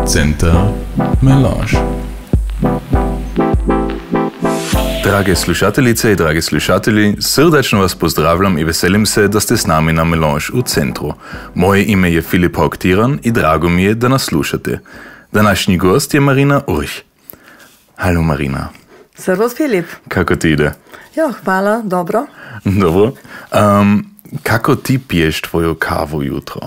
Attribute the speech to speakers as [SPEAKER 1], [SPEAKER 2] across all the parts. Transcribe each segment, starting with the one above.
[SPEAKER 1] Center Melange. Drage slušateljice i dragi slušatelji, srdačno vas pozdravljam i veselim se da ste s nami na Melange u centru. Moje ime je Filip Haug-Tiran i drago mi je da nas slušate. Današnji gost je Marina Urch. Halo Marina.
[SPEAKER 2] Servus Filip.
[SPEAKER 1] Kako ti ide?
[SPEAKER 2] Jo, hvala, dobro.
[SPEAKER 1] Dobro. Kako ti piješ tvoju kavu jutro?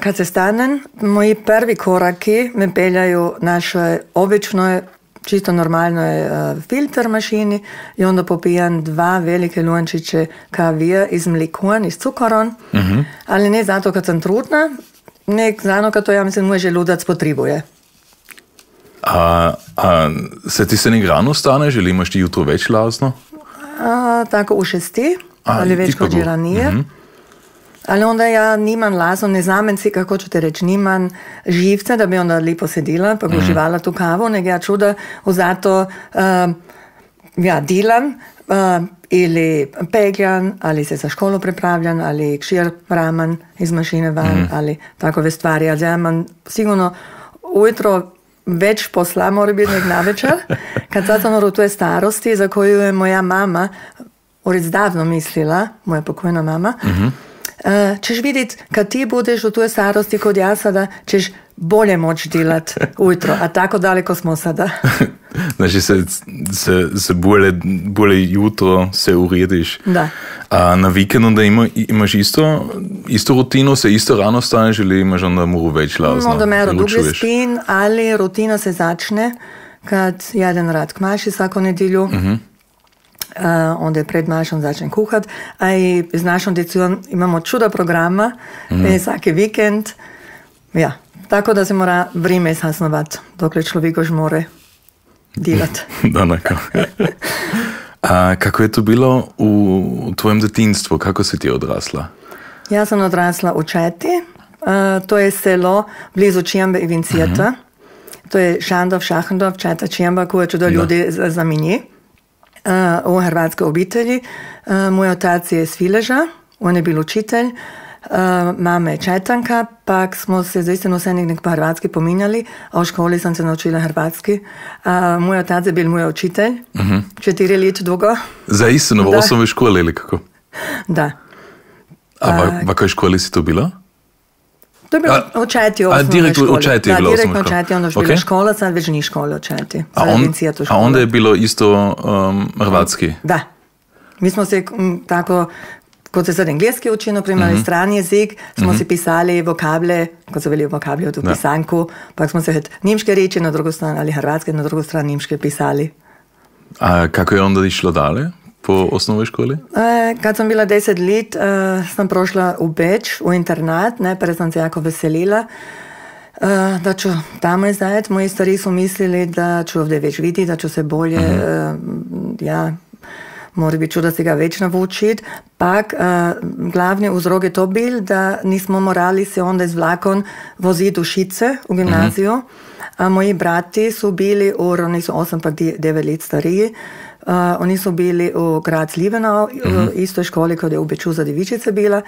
[SPEAKER 2] Kad se stanem, moji prvi koraki me peljaju našoj običnoj, čisto normalnoj filter mašini i onda popijam 2 velike lončiće kavija iz mlikuan, iz cukaron, ali ne zato kad sam trudna, nek zato kad to ja mislim môj želudac potrebuje.
[SPEAKER 1] A se ti se nek rano staneš ili imaš ti jutro več lazno?
[SPEAKER 2] Tako u 6, ali več kot že ranije. Ali onda ja nimam lazno, ne znam si, kako ću te reći, nimam živce da bi onda lipo sedila pa uživala tu kavu, nego ja čuda zato dilam ili pegljam, ali se za školu pripravljam, ali kšir raman iz mašine van, ali takove stvari. Ali ja imam sigurno ujutro več posla mora biti nek navečer, kad sad sam u toj starosti za koju je moja mama davno mislila, moja pokojna mama, ćeš vidjeti, kad ti budeš u toj starosti kod ja sada, ćeš bolje moći delat ujutro, a tako daleko smo sada.
[SPEAKER 1] Znači se bolje jutro se urediš.
[SPEAKER 2] Da.
[SPEAKER 1] A na vikendu onda imaš isto rutinu, se isto rano staneš ili imaš onda moru več lazno?
[SPEAKER 2] Onda mero dublje spin, ali rutina se začne kad jedan rad k maši svako nedjelju. Onda je pred mašom začnem kuhat, a i z našom djecom imamo čuda programa, svaki vikend. Ja, tako da se mora vrime sasnovat, dokle človek už more delat.
[SPEAKER 1] Danako. A kako je to bilo u tvojem detinstvu? Kako si ti odrasla?
[SPEAKER 2] Ja sam odrasla u Četi. To je selo blizu Čijambe i Vincijeta. To je Šandov, Šahendov, Četa, Čijamba, koje čudo ljudi zaminji. U hrvatskoj obitelji. Moj otac je iz Fileža, on je bil učitelj, mama je Četanka, pak smo se zaistino vse nek po hrvatski pominjali, a v školi sam se naučila hrvatski. Moj otac je bil moj učitelj, 4 let dugo.
[SPEAKER 1] Zaistino, v osnovnoj školi ili kako?
[SPEAKER 2] Da.
[SPEAKER 1] A v kakoj školi si to bila?
[SPEAKER 2] To je bilo v Četi osnovne škole.
[SPEAKER 1] U Četi je bilo
[SPEAKER 2] direktno u Četi, onda je bila škola, sad već ni škola u Četi.
[SPEAKER 1] A onda je bilo isto hrvatski?
[SPEAKER 2] Da. Mi smo se tako, kot se sad engleski uči, naprimjer, strani jezik, smo si pisali vokable, kot so bili vokabli v pisanku, pa smo se nimške reči na drugo stran, ali hrvatske na drugo stran nimške pisali.
[SPEAKER 1] A kako je onda išlo dalje? Po osnovnoj školi?
[SPEAKER 2] Kad sam bila 10 let, sam prošla u Beč, u internat, najprej sam se jako veselila, da ću tamo izdajati. Moji stari su mislili da ću ovdje već vidjeti, da ću se bolje, mora biti čuda se ga već navučiti. Pak, glavni uzrok je to bil, da nismo morali se onda iz vlakom voziti u Šice, u gimnaziju, a moji brati su bili, oni su 8 pa 9 let stariji, oni su bili u grad Slivenau, u istoj školi kod je u Beču za djevičice bila,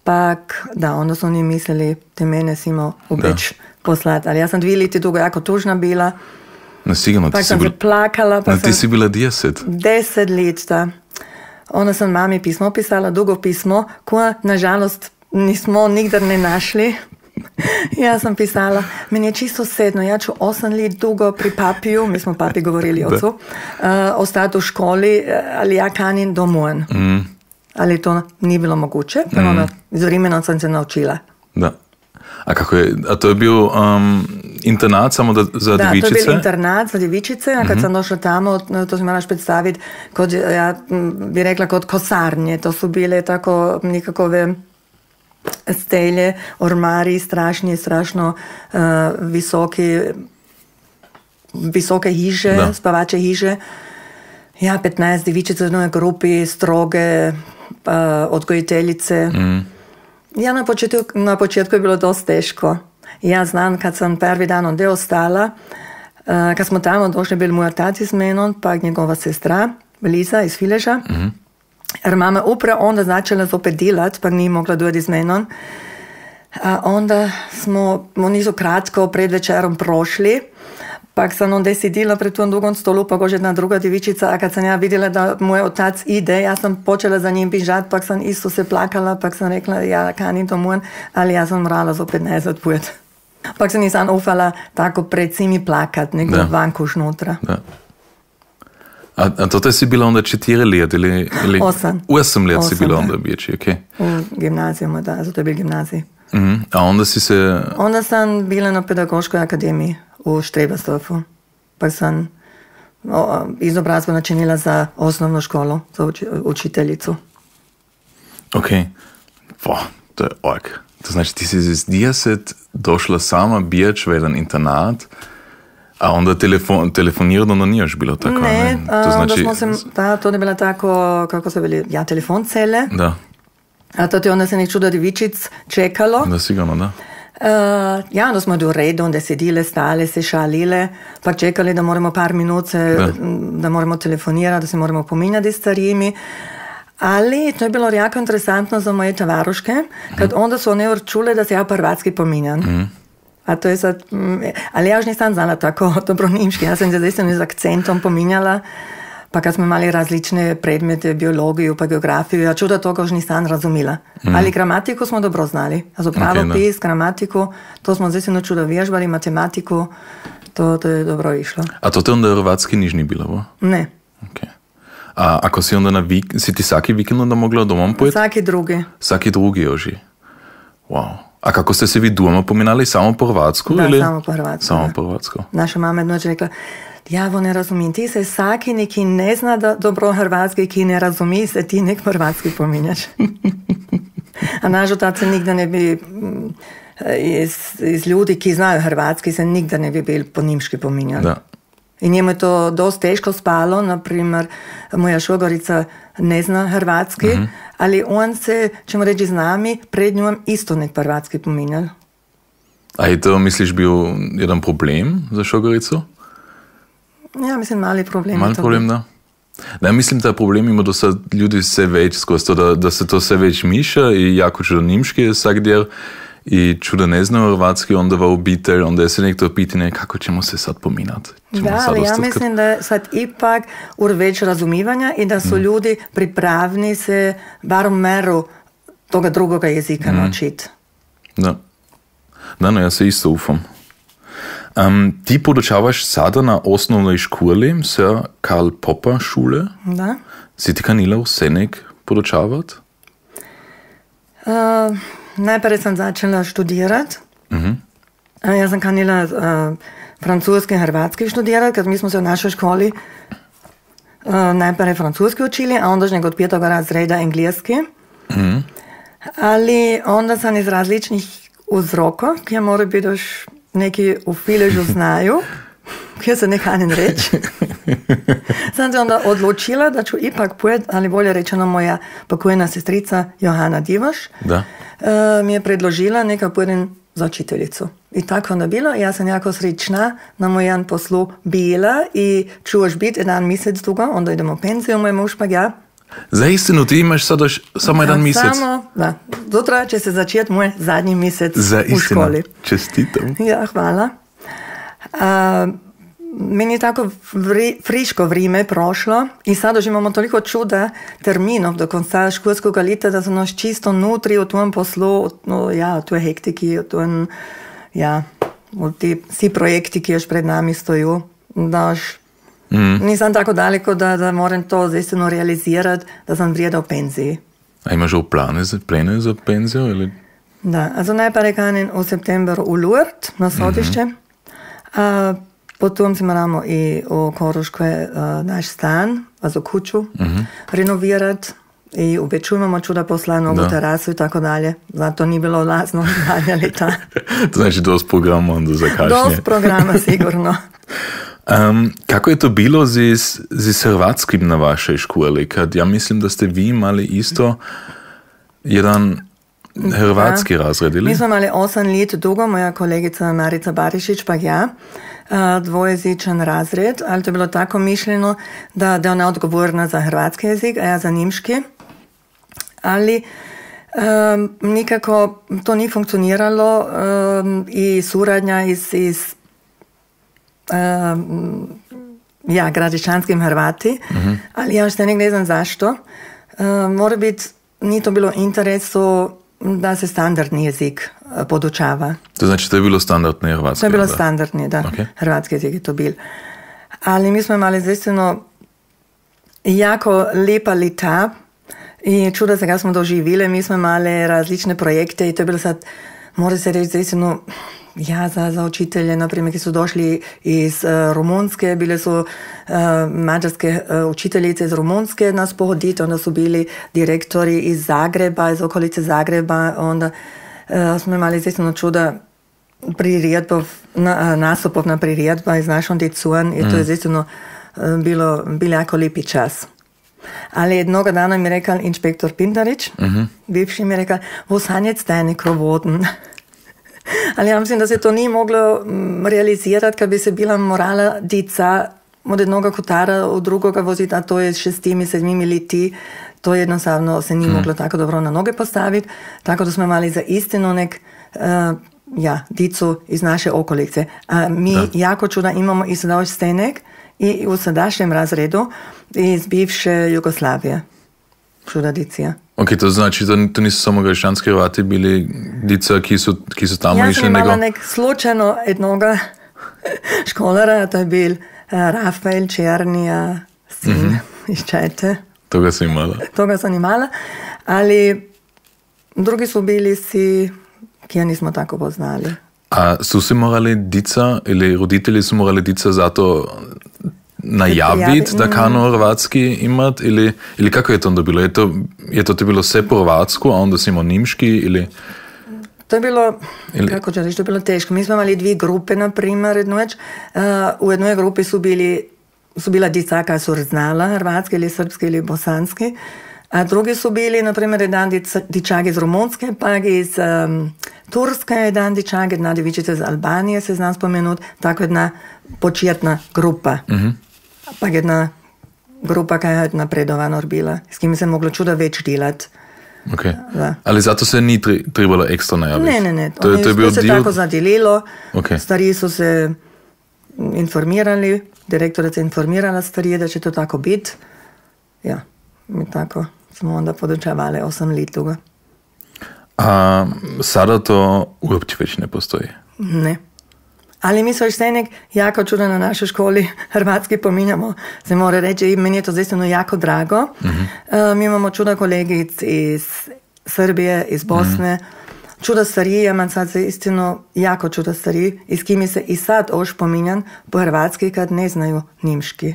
[SPEAKER 2] pak da, onda su oni mislili te mene simo u Beč poslati, ali ja sam 2 leti dugo jako tužna bila,
[SPEAKER 1] sigurno,
[SPEAKER 2] pak sam se plakala.
[SPEAKER 1] Ti si bila 10?
[SPEAKER 2] 10 let, da. Onda sam mami pismo pisala, dugo pismo, koja nažalost nismo nikdar ne našli. Ja sam pisala, meni je čisto sedno, ja ću 8 let dugo pri papiju, mi smo papi govorili ocu, ostati u školi, ali ja kanim domov. Ali to ni bilo moguće, onda iz vremena sam se naučila.
[SPEAKER 1] Da. A to je bio internat samo za djevičice?
[SPEAKER 2] Da, to je bil internat za djevičice, a kad sam došla tamo, to si moraš predstaviti, ja bi rekla kot kosarnje, to su bile tako nikakove stelje, ormari, strašno visoke hiše, spavače hiše. Ja, 15 djevičica u jednoj grupi, stroge, odgojiteljice. Ja, na početku je bilo dosta teško. Ja znam, kad sam prvi dan onda ostala, kad smo tamo došli, bil moj otac iz menom, pa njegova sestra, Liza iz Fileža. Jer mama upravo onda začela zopet delati, pa ni mogla doći z menom. A onda smo, oni so kratko pred večerom prošli, pa sam onda sedila pred tom drugom stolu, pa gože jedna druga djevičica, a kad sam ja vidjela da moj otac ide, ja sam počela za njim bižati, pa sam isto se plakala, pa sam rekla, ja kanim to moram, ali ja sam morala zopet nazad pojeti. Pa sam nisam ufala tako pred svimi plakat, nego vanko šnutra.
[SPEAKER 1] Da. A to si bila onda 4 let ili 8 let si bila onda biječi, okej.
[SPEAKER 2] U gimnazijama, da, zato je bil gimnazij.
[SPEAKER 1] A onda si se...
[SPEAKER 2] Onda sam bila na pedagoškoj akademiji u Štrebersdorfu, pa sam izobrazbu načinila za osnovnu školu, za učiteljicu.
[SPEAKER 1] Okej. To je ork. To znači ti si iz 10 došla sama biječ v jedan internat, a onda telefonirano onda nijaš bilo tako,
[SPEAKER 2] ne?
[SPEAKER 1] To znači...
[SPEAKER 2] to je bila tako, kako se veli, telefoncele.
[SPEAKER 1] Da.
[SPEAKER 2] A to je onda se nek čudo djevičic čekalo.
[SPEAKER 1] Da, sigurno, da.
[SPEAKER 2] Onda smo do redu, onda sedile, stale, se šalile, pa čekali da moramo par minut, da moramo telefonirati, da se moramo pominjati s starimi. Ali to je bilo jako interesantno za moje tovaruške, kad onda su one čule da se ja hrvatski pominjam. A to je sad, ali ja još nisam znala tako dobro nimški, ja sam se zaista z akcentom pominjala, pa kad smo imali različne predmete, biologiju pa geografiju, ja čuda toga još nisam razumila. Ali gramatiku smo dobro znali. Also pravopis, gramatiku, to smo zaista čudo vježbali, matematiku, to je dobro išlo.
[SPEAKER 1] A to te onda hrvatski niž ni bilo, bo?
[SPEAKER 2] Ne.
[SPEAKER 1] Okay. A ako si onda si ti svaki vikend onda mogla domom pojeti?
[SPEAKER 2] Svaki drugi.
[SPEAKER 1] Svaki drugi joži. Wow. A kako ste se vi doma pominjali? Samo po hrvatsku?
[SPEAKER 2] Da,
[SPEAKER 1] ili?
[SPEAKER 2] samo po hrvatsku.
[SPEAKER 1] Samo po hrvatsku.
[SPEAKER 2] Naša mama je noč rekla, ja vo ne razumim, ti se svaki neki ne zna da dobro hrvatski, ki ne razumi, se ti nek hrvatski pominjaš. A naš otac se nikda ne bi, iz ljudi, ki znajo hrvatski, se nikda ne bi bil po nimški pominjali.
[SPEAKER 1] Da.
[SPEAKER 2] I njemu je to dosta teško spalo, naprimer, moja šogorica ne zna hrvatski, ali on se, ćemo reći, z nami, pred njom isto nek hrvatski pominjal.
[SPEAKER 1] A je to, misliš, bil jedan problem za šogorico?
[SPEAKER 2] Ja, mislim, mali problem.
[SPEAKER 1] Mali problem, da. Ne, mislim, da problem ima, da so ljudi vse več skozi to, da se to vse več miša i jako čudo nimški je vsak del i čudo ne znaju hrvatski, onda va obitelj, onda je se nekto pitanje kako ćemo se sad pominati.
[SPEAKER 2] Da, ali ja mislim da je sad ipak več razumivanja i da su ljudi pripravni se bar u meru toga drugoga jezika naučiti.
[SPEAKER 1] Da. Da, no, ja se isto ufam. Ti podučavaš sada na osnovnoj školi, Sir Karl Popper šule.
[SPEAKER 2] Da.
[SPEAKER 1] Si ti kanila vse nek podučavati?
[SPEAKER 2] Najprej sam začela študirati. Ja sam kanila francoski in hrvatski študirati, ker mi smo se v našoj školi najprej francoski učili, a onda od 5. razreda engleski. Ali onda sam iz različnih vzrokov, ki morajo biti još neki v filežu znaju, ki se ne kanim reći. Sam se onda odločila, da ću ipak pojeti, ali bolje rečeno moja pokojna sestrica Johana Divoš mi je predložila neka pojedin za učiteljicu. I tako onda bilo. Ja sam jako srećna na mojem poslu bila i ću još biti jedan mjesec dugo, onda idemo u penziju, moj muž pa ja.
[SPEAKER 1] Za istinu, ti imaš sada samo jedan mjesec?
[SPEAKER 2] Samo, da. Sutra će se začeti moj zadnji mjesec u školi.
[SPEAKER 1] Čestitam.
[SPEAKER 2] Ja, hvala. Meni je tako friško vrijeme prošlo i sad už imamo toliko čuda terminov do konca školskog leta, da sam još čisto nutri u tom poslu, u toj hektiki, u ti vsi projekti, ki još pred nami stoju, da još nisam tako daleko da moram to zaistino realizirati, da sam vrijeda u penziji.
[SPEAKER 1] A imaš u plane za penziju? Ili?
[SPEAKER 2] Da, also najprej kanim u septembru u Lourdes na sodišće, a potom si moramo i u Koruškoj naš stan, also kuću, renovirati i u Beču imamo čuda posla, novu terasu i tako dalje. Zato nije bilo lazno zadnja leta.
[SPEAKER 1] To znači dost programa onda za kašnje.
[SPEAKER 2] Dost programa, sigurno.
[SPEAKER 1] Kako je to bilo z hrvatskim na vašej školi? Kad ja mislim, da ste vi imali isto jedan hrvatski razred, ili?
[SPEAKER 2] Mi smo imali 8 let dugo, moja kolegica Marica Barišić pa ja, dvojezičan razred, ali to je bilo tako mišljeno, da je ona odgovorna za hrvatski jezik, a ja za nimški. ali nikako to nije funkcioniralo i suradnja iz gradišćanskim Hrvati, ali ja što ne znam zašto. Mora biti, nije to bilo interesu da se standardni jezik podučava.
[SPEAKER 1] To znači to je bilo standardni hrvatski?
[SPEAKER 2] To je bilo standardni, da. Okay. Hrvatski jezik je to bil. Ali mi smo imali zaistino jako lepa leta i čuda se ga smo doživili. Mi smo imali različne projekte i to je bilo sad, mora se reći zaistino, za učitelje, naprimjer, ki su došli iz Rumunjske, bile su mađarske učiteljice iz Rumunjske nas pohoditi, onda su bili direktori iz Zagreba, iz okolice Zagreba, onda smo imali zaistino čuda nastupov na priredba iz našom dicuan i to je zaistino bilo jako lepi čas. Ali jednoga dana mi je rekao inšpektor Pintarić, bivši mi je rekao, wo sind jetzt deine Krovoten? Ali ja mislim da se to nije moglo realizirati kad bi se bila morala dica od jednoga kotara u drugoga voziti, a to je 6, 7 leti. To jednostavno se nije moglo tako dobro na noge postaviti. Tako da smo imali za istinu nek dicu iz naše okolice. A mi jako čuda imamo i sada stenek i u sadašnjem razredu iz bivše Jugoslavije. Čuda dicija.
[SPEAKER 1] Ok, to znači, to nisu samo gradišćanski Hrvati bili dica, ki su tamo išli.
[SPEAKER 2] Ja sam imala nek slučajno jednoga školara, to je bil Rafael Černija, sin iz Čete.
[SPEAKER 1] Toga sam imala.
[SPEAKER 2] Toga sam imala, ali drugi su bili ki ja nismo tako poznali.
[SPEAKER 1] A su se morali dica, ili roditelji su morali dica zato najaviti da kano hrvatski imat, ili kako je to onda bilo? Je to bilo sve po hrvatsku, a onda si imao nimški, ili?
[SPEAKER 2] To je bilo, kako ću reći, to je bilo teško. Mi smo imali 2 grupe, na primjer, u jednoj grupi su bila dica koja su znala hrvatski ili srpski ili bosanski, a drugi su bili, na primjer, jedan dičak iz Rumunjske, pa iz Turske, jedan dičak, jedna djevičica iz Albanije, se zna spomenuti, tako jedna početna grupa. Pa jedna grupa koja je napredovano bila, s kim se moglo čuda več delati.
[SPEAKER 1] Ok, ali zato se ni trebalo ekstra najaviti?
[SPEAKER 2] Ne, to se tako zadelilo, stariji su se informirali, direktorica je informirala starije da će to tako biti. Ja, mi tako smo onda podučavali 8 let toga.
[SPEAKER 1] A sada to uopće već ne postoji?
[SPEAKER 2] Ne. Ali mi svojštenek jako čuda na našoj školi hrvatski pominjamo, se mora reći, i meni je to zaistino jako drago. Mi imamo čuda kolegic iz Srbije, iz Bosne, čuda stariji, ja imam sad zaistino jako čuda stariji, i s kimi se i sad oš pominjan po hrvatski kad ne znaju nimški.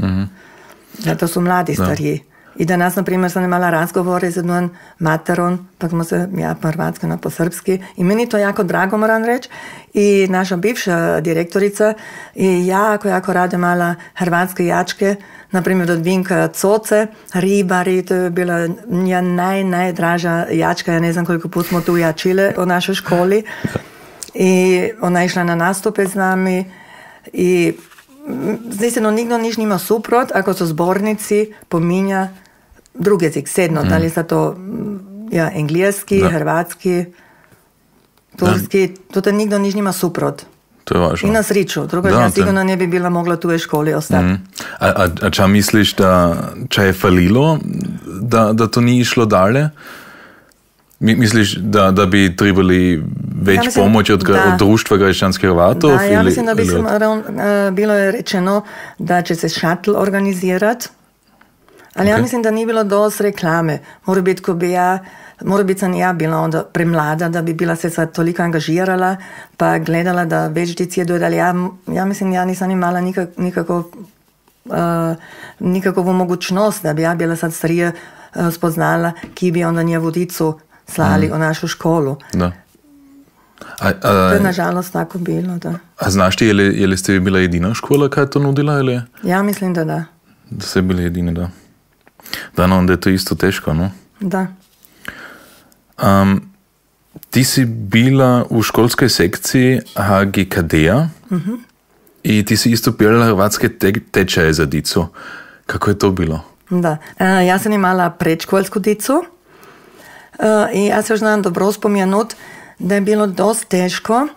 [SPEAKER 2] To su mladi stariji. I danas, na primjer, sam imala razgovore z jednom materom, pa smo se po hrvatski, po srpski. I meni to jako drago, moram reći. I naša bivša direktorica je jako rado imala hrvatske jačke, na primjer od Vinka Coce, Ribari, to je bila nja najdraža jačka, ja ne znam koliko put smo tu jačile u našoj školi. I ona je išla na nastupe z nami i zaistino nikdo niš nima suprot, ako so zbornici pominja drugi jezik, sedno, da li sa to engleski, hrvatski, turski, to nikdo niš nima suprot.
[SPEAKER 1] To je važno.
[SPEAKER 2] I na sriču, drugo ja sigurno ne bi bila mogla tu u školi ostati.
[SPEAKER 1] A ča misliš, da ča je falilo, da to ni išlo dalje? Misliš, da bi trebali več pomoći od društva gradišćanskih Hrvatov?
[SPEAKER 2] Da, ja mislim, da bi bilo je rečeno da će se šatl organizirati, ali ja mislim, da nije bilo dosti reklame. Mora biti sam ja bila onda premlada, da bi bila se sad toliko angažirala, pa gledala da več dici jedu, ali ja mislim, ja nisam imala nikakovu mogućnost, da bi ja bila sad starija spoznala, ki bi onda njevu dicu slali u našu školu.
[SPEAKER 1] Da.
[SPEAKER 2] To je nažalost tako bilo, da.
[SPEAKER 1] A znaš ti, je li ste bila jedina škola, kaj je to nudila? Ili?
[SPEAKER 2] Ja mislim, da da.
[SPEAKER 1] Da ste bili jedine, da. Da, no, onda je to isto teško, no?
[SPEAKER 2] Da.
[SPEAKER 1] Ti si bila u školskoj sekciji HGKD-a i ti si isto pjelala hrvatske tečaje za dicu. Kako je to bilo?
[SPEAKER 2] Da, ja sam imala predškolsku dicu I ja se još znam dobro spomenut da je bilo dosta teško.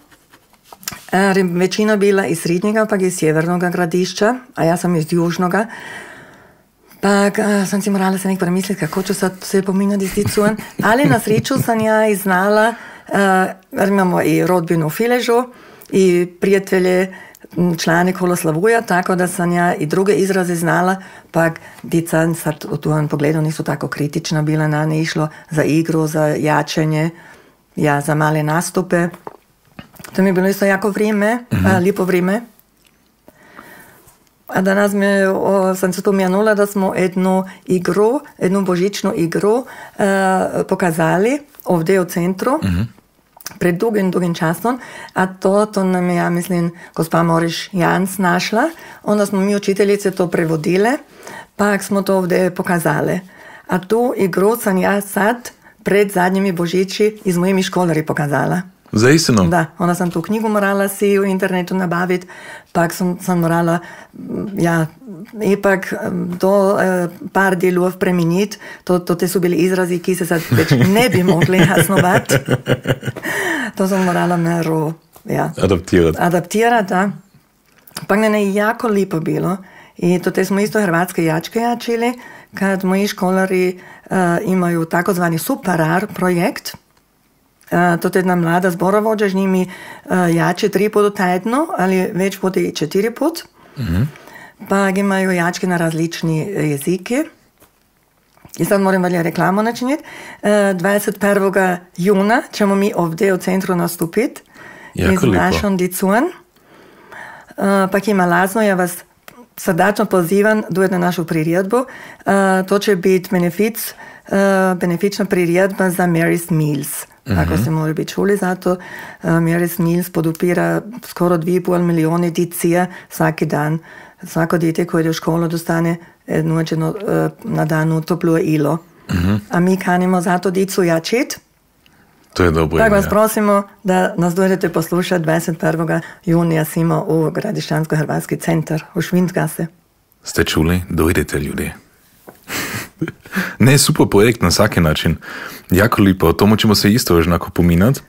[SPEAKER 2] Većina bila iz srednjega, pa iz sjevernog gradišća, a ja sam iz južnoga. Pa sam si morala se nek premisliti, kako ću sad se pominjati s dicujem. Ali na sreću sam ja i znala, imamo i rodbinu u Filežu, i prijatelje, člani Koloslavuja, tako da sam ja i druge izraze znala, pa dica sad u tom pogledu nisu tako kritična bila na ne išlo za igru, za jačanje, ja za male nastupe. To mi je bilo isto jako vrijeme, lijepo vrijeme. A danas sam se spomenula da smo jednu božičnu igru pokazali ovdje u centru. Pred dugim časom, a to nam je, ja mislim, gospa Moriš Jans našla. Onda smo mi učiteljice to prevodile, pa smo to ovdje pokazali. A tu igru sam ja sad pred zadnjimi božići iz mojimi školeri pokazala.
[SPEAKER 1] Zaistino?
[SPEAKER 2] Da, onda sam tu knjigu morala si u internetu nabaviti, pa sam morala ipak do par dijelov preminiti. To te su bili izrazi, ki se sad već ne bi mogli jasnovati. To sam morala mero adaptirati, da. Pa ne je jako lijepo bilo. I to te smo isto hrvatske jačke jačili, kad moji školari imaju takozvani Superar projekt. To je jedna mlada zborovođa, z njimi jače 3 put tjedno, ali već puti i 4 put. Pa imaju jačke na različni jezike. I sad moram valja reklamu načiniti. 21. juna ćemo mi ovdje u centru nastupiti.
[SPEAKER 1] Jako
[SPEAKER 2] z našom dicujem. Pa ima lazno, ja vas srdačno pozivam dojeti na našu priredbu. To će biti benefična priredba za Mary's Meals. Ako ste morali biti čuli za to, Mary's Meals podupira skoro 2,5 milijone dicija svaki dan. Svako dite koje ide u školu dostane nuđeno na danu toplo ilo. A mi kanimo za to dicu jačiti.
[SPEAKER 1] To je dobro.
[SPEAKER 2] Tako vas prosimo da nas dojdete poslušati 21. junija simo u Gradišćansko-hrvatski centar u Švindgase.
[SPEAKER 1] Ste čuli? Dojdete, ljudi. Ne, super projekt na svaki način. Jako lijepo. O tomu ćemo se isto još onako pominati.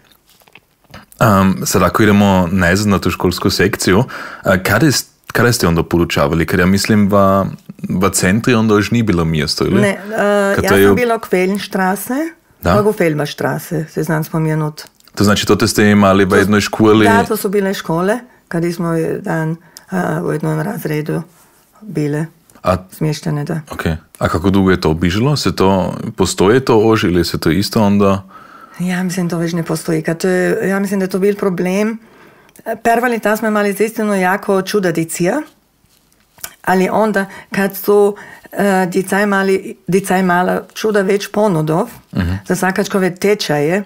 [SPEAKER 1] Sad ako idemo nazad na tu školsku sekciju, kada ste onda podučavali? Kad ja mislim, v centri onda još nije bilo mjesto, ili?
[SPEAKER 2] Ne, ja sam bila u Kvelenstraße, pa u Felberstraße, se znam spomenut.
[SPEAKER 1] To znači, to ste imali v jednoj školi?
[SPEAKER 2] Da, to su bile škole, kad smo dan u jednom razredu bile smještene, da.
[SPEAKER 1] Okay. A kako dugo je to obižilo? Postoje to ož ili se to isto onda?
[SPEAKER 2] Ja mislim, to već ne postoji. Ja mislim, da je to bil problem. Prva leta smo imali zaistino jako čuda dicija, ali onda kad su djeca imala čuda već ponudov za svakačkove tečaje,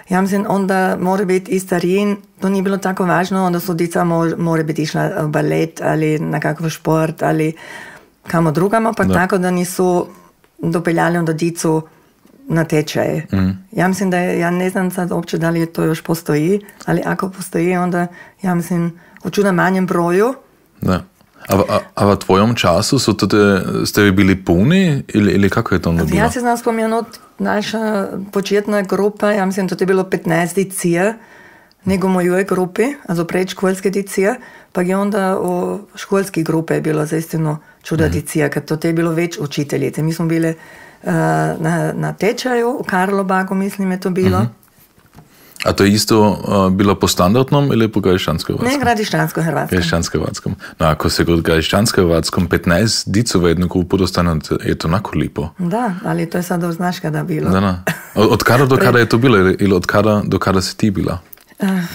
[SPEAKER 2] ja mislim, onda mora biti i starijin, to nije bilo tako važno, onda su djeca mora biti išla u balet ali na kakav šport ali kamo drugamo, pa tako da nisu dopeljali onda dicu na tečaje. Ja mislim da ja ne znam sad uopće da li to još postoji, ali ako postoji, onda ja mislim u čuda manjem broju.
[SPEAKER 1] Da. A v tvojom času ste vi bili puni ili kako je to onda bilo?
[SPEAKER 2] Ja se znam spomenuti, naša početna grupa, ja mislim da to je bilo 15 dicija, nego u mojoj grupi, also predškolske dicije, pa je onda u školski grupe je bilo zaistino čuda dicija, kad to je bilo već učiteljice. Mi smo bile na tečaju u Karlobagu, mislim je to bilo.
[SPEAKER 1] A to je isto bilo po standardnom ili po Gradišćansko-hrvatskom?
[SPEAKER 2] Ne, Gradišćansko-hrvatskom.
[SPEAKER 1] Gradišćansko-hrvatskom. No, ako se kod Gradišćansko-hrvatskom 15 dicu v jednu grupu dostane, je to onako lipo.
[SPEAKER 2] Da, ali to je sad znaš kada bilo.
[SPEAKER 1] Da. Od kada do kada je to bilo ili od kada do kada si ti bila?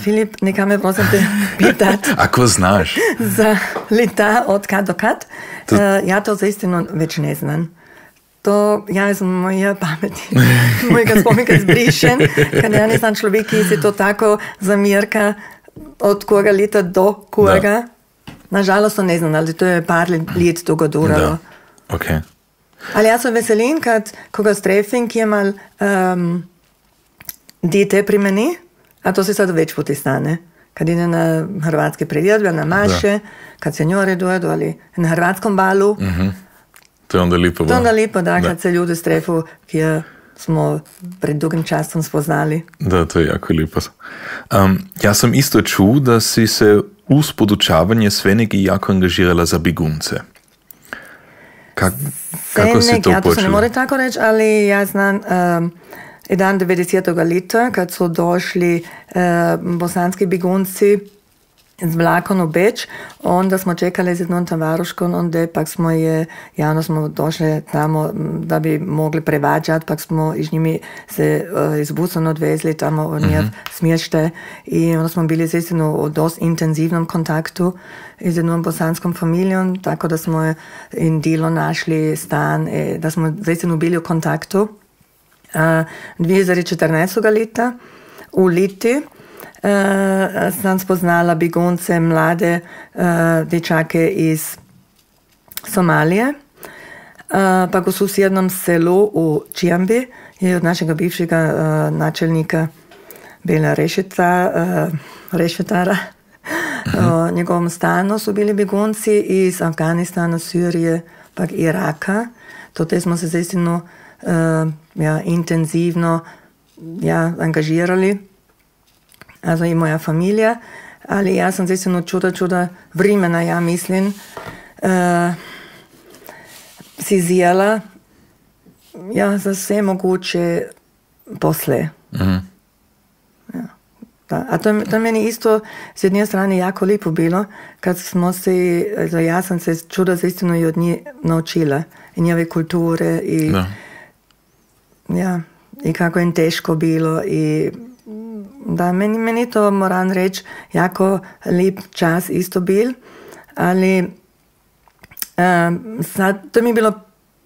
[SPEAKER 2] Filip, neka me prosim te pitat.
[SPEAKER 1] Ako znaš.
[SPEAKER 2] Za leta od kad do kad. Ja to zaistino već ne znam. To, ja sam moja pameti, mojega spominka zbrišen, kad ja ne znam človek, ki se to tako zamirka od koga leta do koga. Da. Nažalost to ne znam, ali to je par let toga duralo.
[SPEAKER 1] Da, okay.
[SPEAKER 2] Ali ja sem veselin, kad koga strefim, ki je mal dete pri meni, a to se sad več poti stane. Kad ide na hrvatske priredbe, na maše, kad senjore dojedu ali na hrvatskom balu.
[SPEAKER 1] To je onda lipo.
[SPEAKER 2] To je onda lipo, da, kad se ljudi strefu, ki je smo pred dugim časom spoznali.
[SPEAKER 1] Da, to je jako lijepo. Ja sam isto čuo da si se uz podučavanje sve neki jako angažirala za begunce. Kako si to
[SPEAKER 2] ja to se ne
[SPEAKER 1] počela?
[SPEAKER 2] more tako reći, ali ja znam dan 90. leta, kad su došli bosanski begunci z vlakom u Beč, onda smo čekali z jednom tavaruškom, onda pak smo došli tamo da bi mogli prevađati, pak smo iz njimi se iz busom odvezli tamo u njih smještaj i onda smo bili zaistinu u dosta intenzivnom kontaktu z jednom bosanskom familijom, tako da smo in dilo našli stan, da smo zaistinu bili u kontaktu. 2014. leta u Liti sam spoznala begunce, mlade dečake iz Somalije. Pa u susjednom selu u Čiambi je od našega bivšega načelnika bila Rešetara. U njegovom stanu su bili begunci iz Afganistana, Sirije, pa Iraka. Te smo se zaistinu intenzivno angažirali. Also i moja familija, ali ja sam zaistinu čuda vremena, ja mislim, si zijela za sve moguće posle. A to meni isto s jedne strane jako lijepo bilo, kad smo se, ja sam se čuda zaistinu i od njih naučila, i njove kulture, i kako im teško bilo, i da, meni to moram reći jako lijep čas isto bil, ali sad to mi je bilo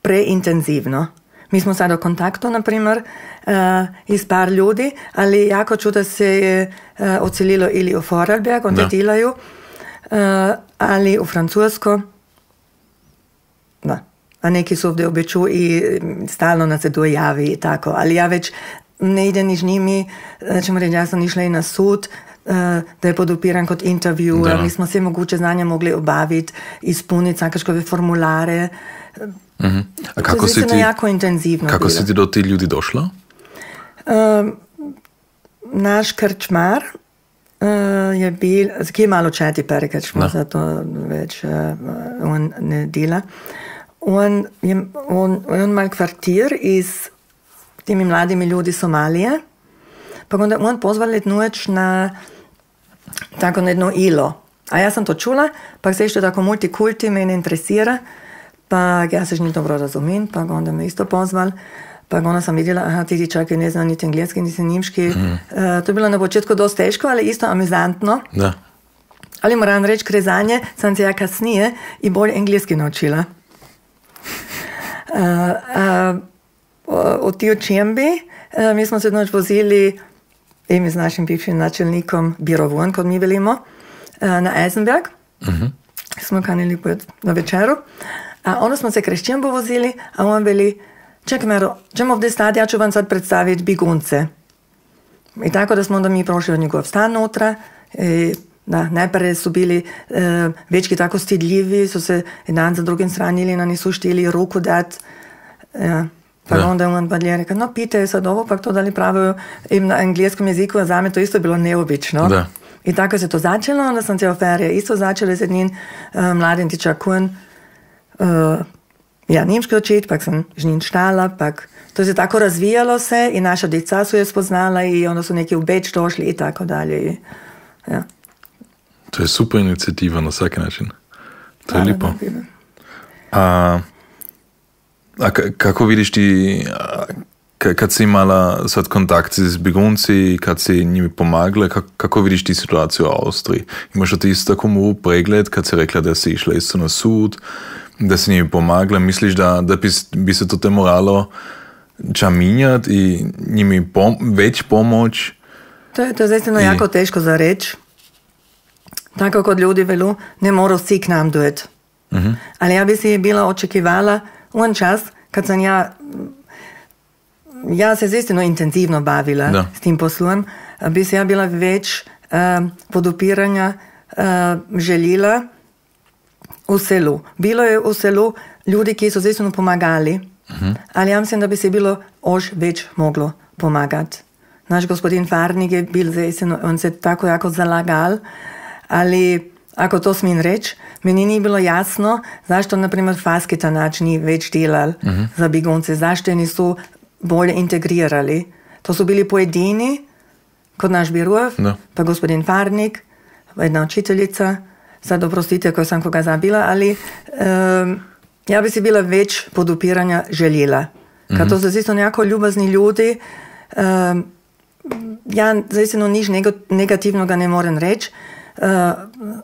[SPEAKER 2] preintenzivno. Mi smo sad u kontaktu, na primjer, iz par ljudi, ali jako čuda se je odselilo ili u Vorarlberg, onda delaju, ali u Francusko, da. A neki su ovdje u Beču i stalno nas se dojavi i tako, ali ja već ne idem niž njimi, ćemo reći, ja sam išla i na sud, da je podupiran kot intervju, mi smo sve moguće znanja mogli obaviti, ispuniti sakaškove formulare.
[SPEAKER 1] A kako si ti,
[SPEAKER 2] jako intenzivno
[SPEAKER 1] kako si ti do ti ljudi došla?
[SPEAKER 2] Naš krčmar je bil, ki je malo četi perekačmo, zato već on ne dela. On mal kvartir iz tými mladými ljudi Somalije, pa onda on pozvali noć na tako jedno ilo. A ja sam to čula, pa se što tako multikulti mene interesira, pa ja se ni dobro razumim, pa onda me isto pozval, pa onda sam vidjela, aha, ti čakaj ne znam niti engleski, niti njimški. To je bilo na početku dosta teško, ali isto amizantno.
[SPEAKER 1] Da.
[SPEAKER 2] Ali moram reći, krezanje sam se ja kasnije i bolj engleski naučila. Od tiju Čiambi, mi smo se noć vozili mi z našim bivšim načelnikom Birovon, kot mi velimo, na Eisenberg. Smo kanili na večeru. A onda smo se kraj Čiambu vozili, a on veli, čekaj Mero, ćemo ovdje stati, ja ću vam sad predstaviti begunce. I tako da smo onda mi prošli od njegov stan nutra. Da, najprej su bili večki tako stidljivi, so se jedan za drugim stranili, na nisu štili ruku dat. Pa onda on pa je rekel, no pite sad ovo, pa to da li pravijo na engleskom jeziku, a za me to isto bilo neobično.
[SPEAKER 1] Da.
[SPEAKER 2] I tako se to začelo, onda sam cijelo ferije isto začela z jednim mladim tičakun, nemški učit, pak sam z njim štala, pak to se tako razvijalo se i naša djeca su je spoznala i onda su neki u Beč došli i tako dalje. Ja.
[SPEAKER 1] To je super inicijativa na svaki način. To je lijepo. A kako vidiš ti, kad si imala sad kontakt s begunci, kad si njimi pomagala, kako vidiš ti situaciju u Austriji? Imaš ti isto tako mu pregled, kad si rekla da si išla isto na sud, da si njimi pomagala, misliš da bi se to te moralo čaminjati i njimi već pomoć?
[SPEAKER 2] To je zaistino jako teško za reći. Tako kot ljudi velu, ne morajo vsi k nam dojeti. Ali ja bi si bila očekivala on čas, kad sam ja se zaistino intenzivno bavila s tim poslom, bi se ja bila več podupiranja željela v selu. Bilo je v selu ljudi, ki so zaistino pomagali ali ja mislim, da bi se bilo još već moglo pomagati. Naš gospodin Farnik je bil zaistino, on se tako jako zalagal, ali ako to smijem reći, meni nije bilo jasno zašto, na primjer, Fasketanač nije već delal za begunce, zašto je nisu bolje integrirali. To su bili pojedini, kod naš Birov, pa gospodin Farnik, jedna učiteljica, sad oprostite ako sam koga zabila, ali ja bi si bila već podupiranja željela. Kad to su isto nekako ljubazni ljudi, ja zaistino nič negativnoga ne moram reći,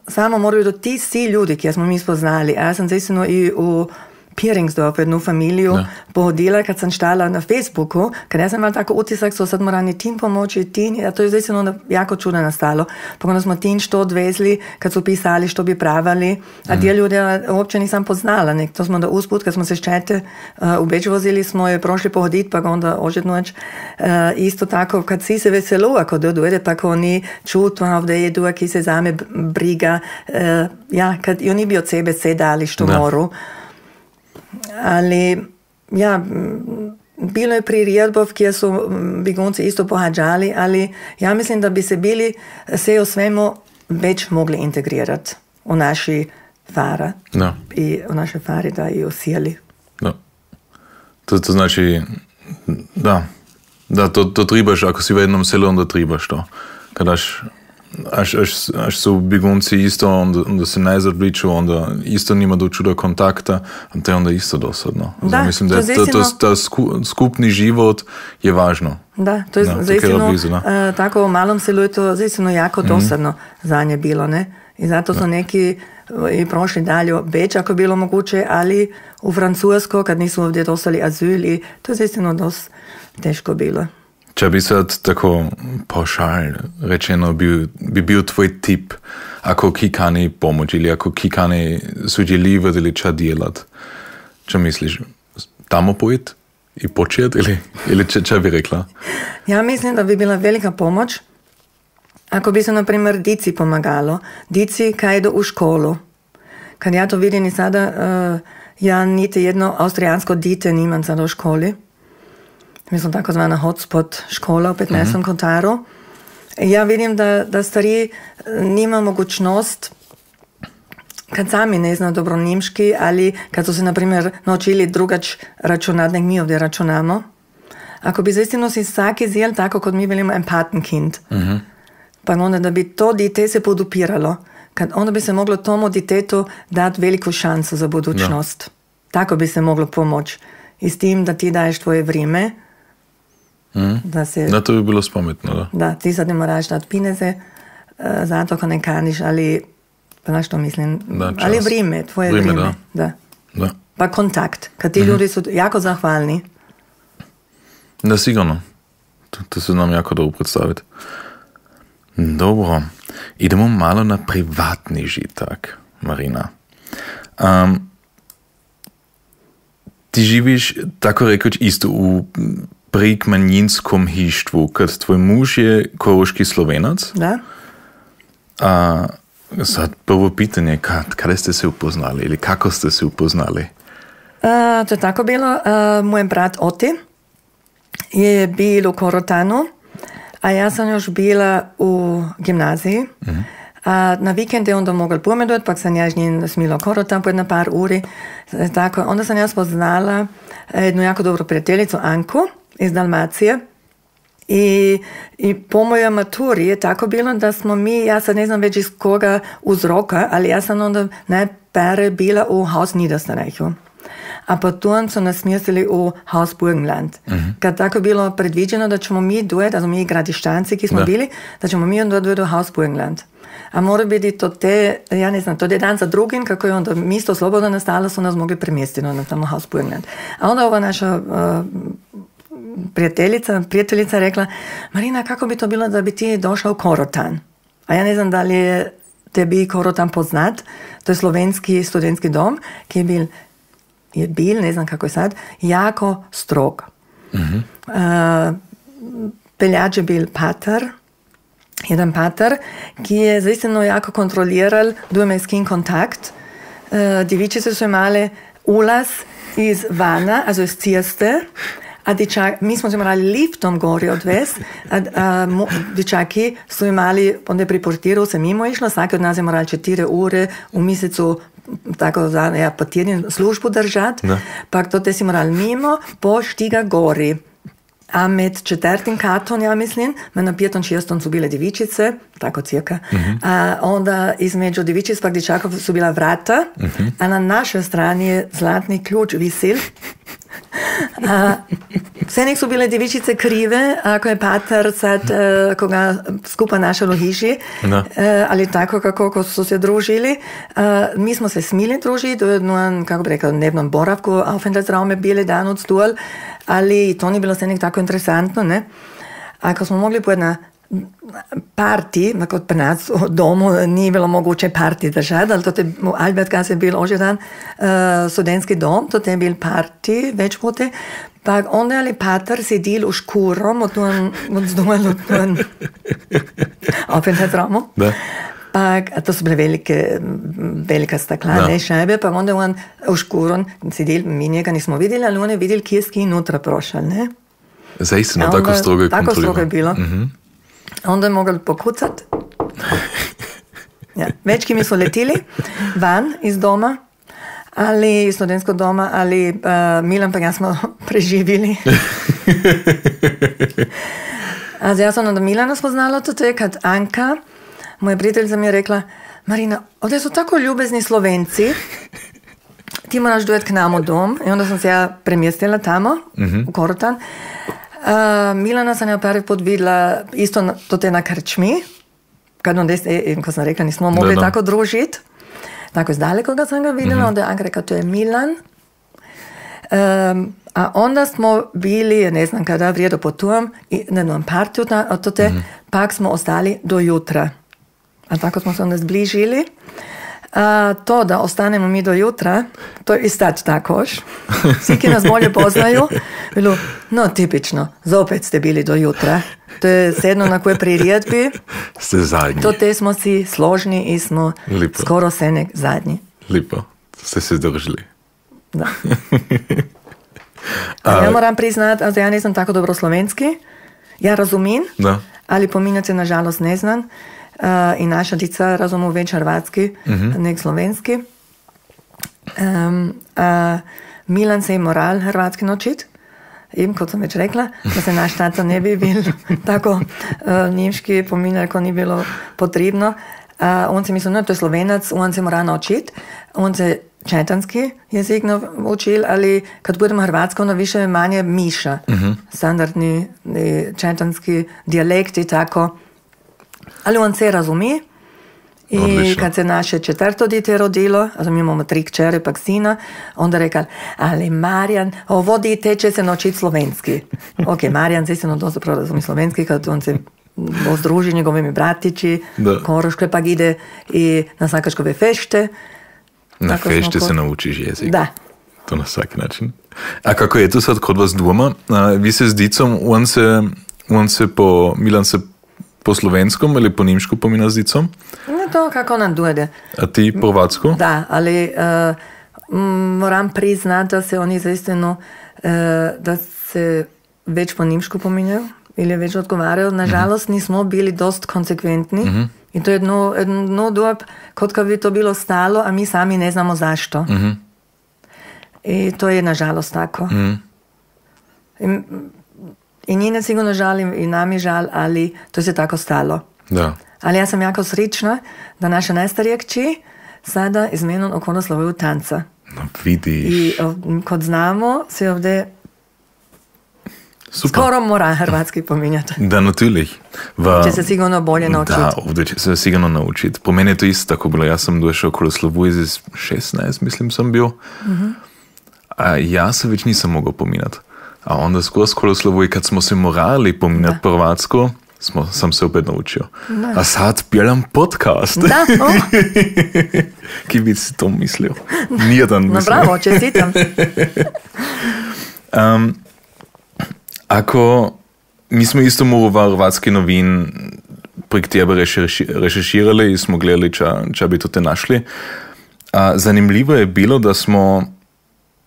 [SPEAKER 2] samo moraju do ti svi ljudi, ki smo mi spoznali. A ja sam zaistino i u Piringsdorf jednu familiju pohodila, kad sam štala na Facebooku, kad ja sam imala tako utisak, so sad morali tim pomoći, a to je zaistino jako čudo nastalo. Pa onda smo tim što odvezli, kad su pisali što bi pravali, a ti ljudi uopće nisam poznala. To smo onda usput, kad smo se ščete u Beč vozili, smo je prošli pohoditi, pa onda ožetnoć isto tako, kad si se veselo, ako dojde, pa ko oni čutu, ovdje je duha, ki se zame briga, kad i oni bi od sebe sedali što moru. Ali, bilo je priredbov, kjer so begunci isto pohađali, ali ja mislim, da bi se bili se o svemu već mogli integrirati u naši fara. I u naše fari, da i osijeli.
[SPEAKER 1] To znači, to tribaš, ako si v jednom selu, onda tribaš to. Kadaš až su begunci isto, onda se najzad bliču, onda isto nima do čuda kontakta, a to je onda isto dosadno.
[SPEAKER 2] Da,
[SPEAKER 1] mislim, da ta skupni život je važno.
[SPEAKER 2] Da, to je zaistino, tako u malom selu je to zaistino jako dosadno za nje bilo, ne? I zato su neki i prošli dalje u Beč, ako bilo moguće, ali u Francusko, kad nisu ovdje dostali azil, i to je zaistino dosta teško bilo.
[SPEAKER 1] Če bi sad tako paušal rečeno bi bil tvoj tip, ako ki kani pomoć ili ako ki kani sudjeljivati ili ča djelat? Če misliš, tamo pojeti i početi ili če bi rekla?
[SPEAKER 2] Ja mislim, da bi bila velika pomoć ako bi se, na primjer, dici pomagalo. Dici kaj idu u školu. Kad ja to vidim i sada, ja niti jedno austrijansko dite nimam sada u školi. Mi smo takozvana hotspot škola u 15. Kotaru. Ja vidim da stari nima mogućnost, kad sami ne znaju dobro nimški, ali kad su se, na primjer, naučili drugač računati, nek mi ovdje računamo. Ako bi zaistino si vsaki zel tako, kot mi velimo empatenkind, pa onda da bi to dite se podupiralo, onda bi se moglo tomu ditetu dati veliku šansu za budućnost. Tako bi se moglo pomoći. I s tim, da ti daješ tvoje vrijeme,
[SPEAKER 1] to bi bilo spametno,
[SPEAKER 2] da. Ti sad ne moraš dati pineze, zato ko ne kaniš, ali, znaš što mislim, ali vrijeme, tvoje vrijeme. Da. Pa kontakt, kad ti ljudi su jako zahvalni.
[SPEAKER 1] Da, sigurno. To se nam jako dobro predstaviti. Dobro, idemo malo na privatni žitak, Marina. Ti živiš, tako rekoč, isto u prekmanjinskom hištvu, kad tvoj muž je koroški Slovenac.
[SPEAKER 2] Da.
[SPEAKER 1] Sad prvo pitanje, kada ste se upoznali ili kako ste se upoznali?
[SPEAKER 2] To je tako bilo. Moj brat Oti je bil u Korotanu, a ja sam još bila u gimnaziji. A na vikend je onda mogel pomedovati, pa sam ja s njim smila Korotan po jedna par uri. Tako, onda sam ja spoznala jednu jako dobru prijateljicu, Anku, iz Dalmacije. I po mojoj maturi je tako bilo da smo mi, ja sad ne znam već iz koga uzroka, ali ja sam onda najpere bila u Haus Niederösterreichu. A potom su nas smjestili u Haus Burgenland. Kad tako bilo predviđeno da ćemo mi duet, also mi gradištanci ki smo bili, da ćemo mi onda duet u Haus Burgenland. A mora biti to ja ne znam, to je dan za drugim, kako je onda mjesto slobodno nastalo, su nas mogli premjestiti na tamo Haus Burgenland. A onda ova naša prijateljica rekla, Marina, kako bi to bilo da bi ti došla u Korotan? A ja ne znam da li je tebi Korotan poznat, to je slovenski studentski dom, ki je bil, ne znam kako je sad, jako strog. Peljač je bil jedan pater, ki je zaistino jako kontroliral dvomejski kontakt. Djevičice su imale ulaz iz vana, also iz ceste, a mi smo se morali liftom gori odvesti, a dječaki su imali, onda je pri portiru se mimo išlo, svaki od nas je morali 4 ure u mjesecu tako po tjednu službu držati, pa to te si morali mimo, po štiga gori. A med 4. katom, ja mislim, na 5. 6. su bile djevičice, tako cirka. A onda između djevičic pa dječakov su bila vrata, a na našoj strani je zlatni ključ visil. Vse nek su bile djevičice krive, ako je pater sad koga skupa našel u hiši, ali tako kako su se družili. Mi smo se smili družiti, u jednom, kako bi rekao, dnevnom boravku, Aufenthaltsraum je bili dan od stol, ali to nije bilo sve nek tako interesantno, ne? Ako smo mogli po jedna parti, kod pri nas u domu nije bilo moguće parti držati, ali to je u Albertgasse bil ožedan studentski dom, to je bil parti več pote, pa onda je ali pater sedil u škurom od Aufenthaltsraumu. Pa to su bile velika staklane šajbe, pa onda on u škurom sedil, mi njega nismo vidjeli, ali on je vidjel kje je nutra prošel, ne?
[SPEAKER 1] Zaistino, tako strogo je kontrolirano.
[SPEAKER 2] Tako strogo je bilo. Onda je mogel pokucati. Ja. Večki mi su letili van iz doma, ali iz studentskog doma, ali Milan pa ja smo preživili. A ja sam onda Milana spoznala to je kad Anka, moja prijateljica mi je rekla, Marina, ovdje su tako ljubezni Slovenci, ti moraš dojet k nam u dom. I onda sam se ja premjestila tamo, u Korotan. Milana sam ja prvi put vidjela isto to te na krčmi, ko sam rekla, nismo mogli tako družiti. Tako izdaleko ga sam ga vidjela, onda je Anka rekla, to je Milan. A onda smo bili, ne znam kada, vrijedo potujem, na jednom partiju, pak smo ostali do jutra. A tako smo se onda zbližili. To da ostanemo mi do jutra, to je istać takož. Svi ki nas bolje poznaju, bilo, no tipično, zopet ste bili do jutra. To je sedno na koje priredbi.
[SPEAKER 1] Ste zadnji.
[SPEAKER 2] To te smo si složni i smo
[SPEAKER 1] Lipo.
[SPEAKER 2] Skoro se nek zadnji.
[SPEAKER 1] Lipo, ste se zdržali.
[SPEAKER 2] Da. Ja moram priznati, also ja nisam tako dobro slovenski. Ja razumim, ali pominjati nažalost ne znam. I naša dica razumu več hrvatski, nek slovenski. Milan se je moral hrvatski naučiti, kot sem več rekla, da se naš tata ne bi bil tako njemški pominjal, ko ni bilo potrebno. On se mislil, no, to je Slovenac, on se mora naučiti. On se četanski jezik naučil, ali kad budemo hrvatsko, ono više manje miša. Standardni četanski dijalekti, tako. Ali on se razumi i odlično. Kad se naše 4. dite rodilo, also mi imamo 3 kćere pa sina, onda rekal, ali Marjan, ovo dite će se naučiti slovenski. Ok, Marjan se istino dosta dobro razumi slovenski, kad on se ozdruži njegovimi bratići, Koroške pa ide i na Sakačkove fešte.
[SPEAKER 1] Na fešte se naučiš jezik.
[SPEAKER 2] Da.
[SPEAKER 1] To na svaki način. A kako je to sad kod vas doma? Vi se s dicom, Milan se po slovenskom ili po nimšku pomina s dicom?
[SPEAKER 2] Ne, to kako nam dojde.
[SPEAKER 1] A ti po hrvatsko?
[SPEAKER 2] Da, ali moram priznati, da se oni zaistino, da se več po nimšku pominjajo ili več odgovarjajo. Nažalost, nismo bili dost konsekventni. I to je jedno dob, kot kad bi to bilo stalo, a mi sami ne znamo zašto. I to je nažalost tako. I njene sigurno žalim i nam je žal, ali to se tako stalo.
[SPEAKER 1] Da.
[SPEAKER 2] Ali ja sam jako srična da naša najstarija kći sada izmenom okolo slovuju tanca.
[SPEAKER 1] No vidiš.
[SPEAKER 2] I kod znamo se ovdje
[SPEAKER 1] Super.
[SPEAKER 2] Skoro mora hrvatski pominjati.
[SPEAKER 1] Da, natürlich.
[SPEAKER 2] Će se sigurno bolje naučiti.
[SPEAKER 1] Da, ovdje će se sigurno naučiti. Po meni je to isto tako bilo. Ja sam došao okolo slovu iz 16, mislim sam bio. A ja se već nisam mogao pominjati. A onda skoro slovu i kad smo se morali pominjati po hrvatsko, sam se opet naučio. Da. A sad pjelam podcast.
[SPEAKER 2] Da,
[SPEAKER 1] Ki bi si to mislio? Nijedan mislio.
[SPEAKER 2] No bravo, čestitam.
[SPEAKER 1] Ako mi smo isto morali hrvatski novin prek tebe rešeširali i smo gledali, če bi to te našli. A zanimljivo je bilo, da smo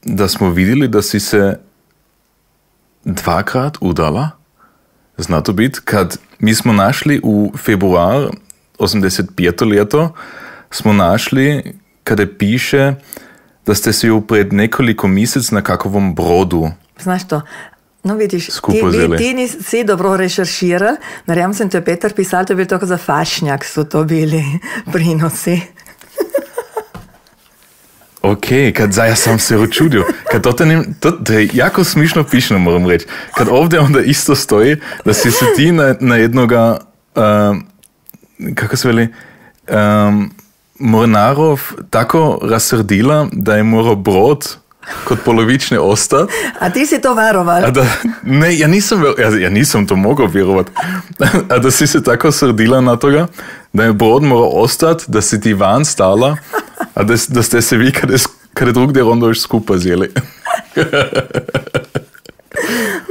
[SPEAKER 1] da smo vidjeli da si se 2krat udala. Zna to biti, kad mi smo našli u februar 85. leto, smo našli kada piše da ste se ju pred nekoliko mjesec na kakovom brodu.
[SPEAKER 2] Znaš to? No vidiš,
[SPEAKER 1] Skupaj
[SPEAKER 2] ti nisi dobro rešerširal, naravno sem te Petar pisal, to je bil tako za fašnjak, so to bili prinosi.
[SPEAKER 1] Ok, kad ja sam se učudio. Kad to je jako smišno pišno, moram reći. Kad ovdje onda isto stoji da si se ti na jednoga, kako se veli, mornarov tako rasrdila, da je morao brod kod polovične ostat.
[SPEAKER 2] A ti si to veroval?
[SPEAKER 1] Ne, ja nisam to mogao vjerovat. A da si se tako srdila na toga, da je brod morao ostat, da si ti van stala, a da ste se vi kada drugdje onda još skupa zjeli.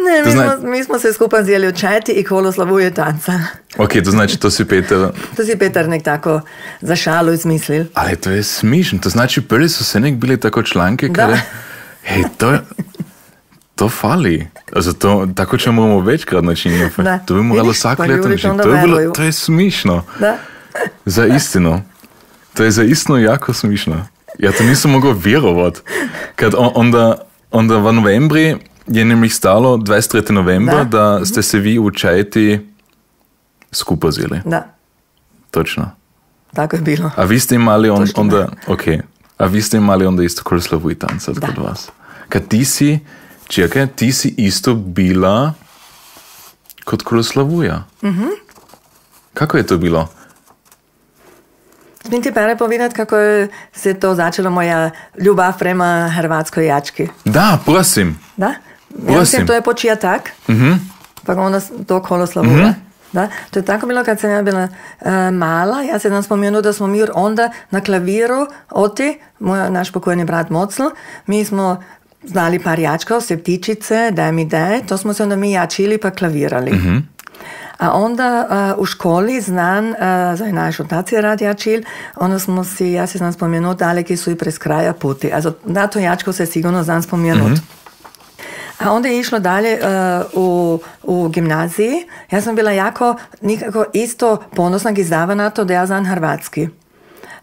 [SPEAKER 2] Ne, mi smo se skupa zjeli u čajti i kolo slavuje tanca.
[SPEAKER 1] Ok, to znači to si Petar...
[SPEAKER 2] To si Petar nek tako za šalu izmislil.
[SPEAKER 1] Ali to je smišno, to znači prvi su se nek bili tako članke kada... Hej, to fali. Also tako ćemo moramo večkrat načiniti. To bi moralo vsak leto načiniti. To je smišno.
[SPEAKER 2] Da.
[SPEAKER 1] Za istinu. To je za istinu jako smišno. Ja to nisam mogao vjerovat. Kad onda v novembri je nemlich stalo 23. novembra, da ste se vi u čajti skupa zjeli.
[SPEAKER 2] Da.
[SPEAKER 1] Točno.
[SPEAKER 2] Tako je bilo.
[SPEAKER 1] A vi ste imali onda... Ok. A vi ste imali onda isto Kruslavu i tancat kod vas. Kad ti si isto bila kod Kruslavuja.
[SPEAKER 2] Mhm.
[SPEAKER 1] Kako je to bilo?
[SPEAKER 2] Smijem ti pere povedati, kako je se to začelo moja ljubav prema hrvatskoj jački?
[SPEAKER 1] Da, prosim.
[SPEAKER 2] Da? Ja mislim, to je početak. Pa onda to Kruslavuja. Da? To je tako bilo kad sam ja bila mala. Ja se dan spomenu da smo mi onda na klaviru naš pokojni brat Mocl, mi smo znali par jačkov, septičice, daj mi daj, to smo se onda mi jačili pa klavirali. A onda u školi znan, za naš otac je rad jačil, onda smo si, ja se znam spomenut, daleki su i prez kraja puti. Also, na to jačko se sigurno znam spomenut. A onda je išlo dalje u gimnaziji. Ja sam bila jako nikako isto ponosna gizdava na to da ja znam hrvatski.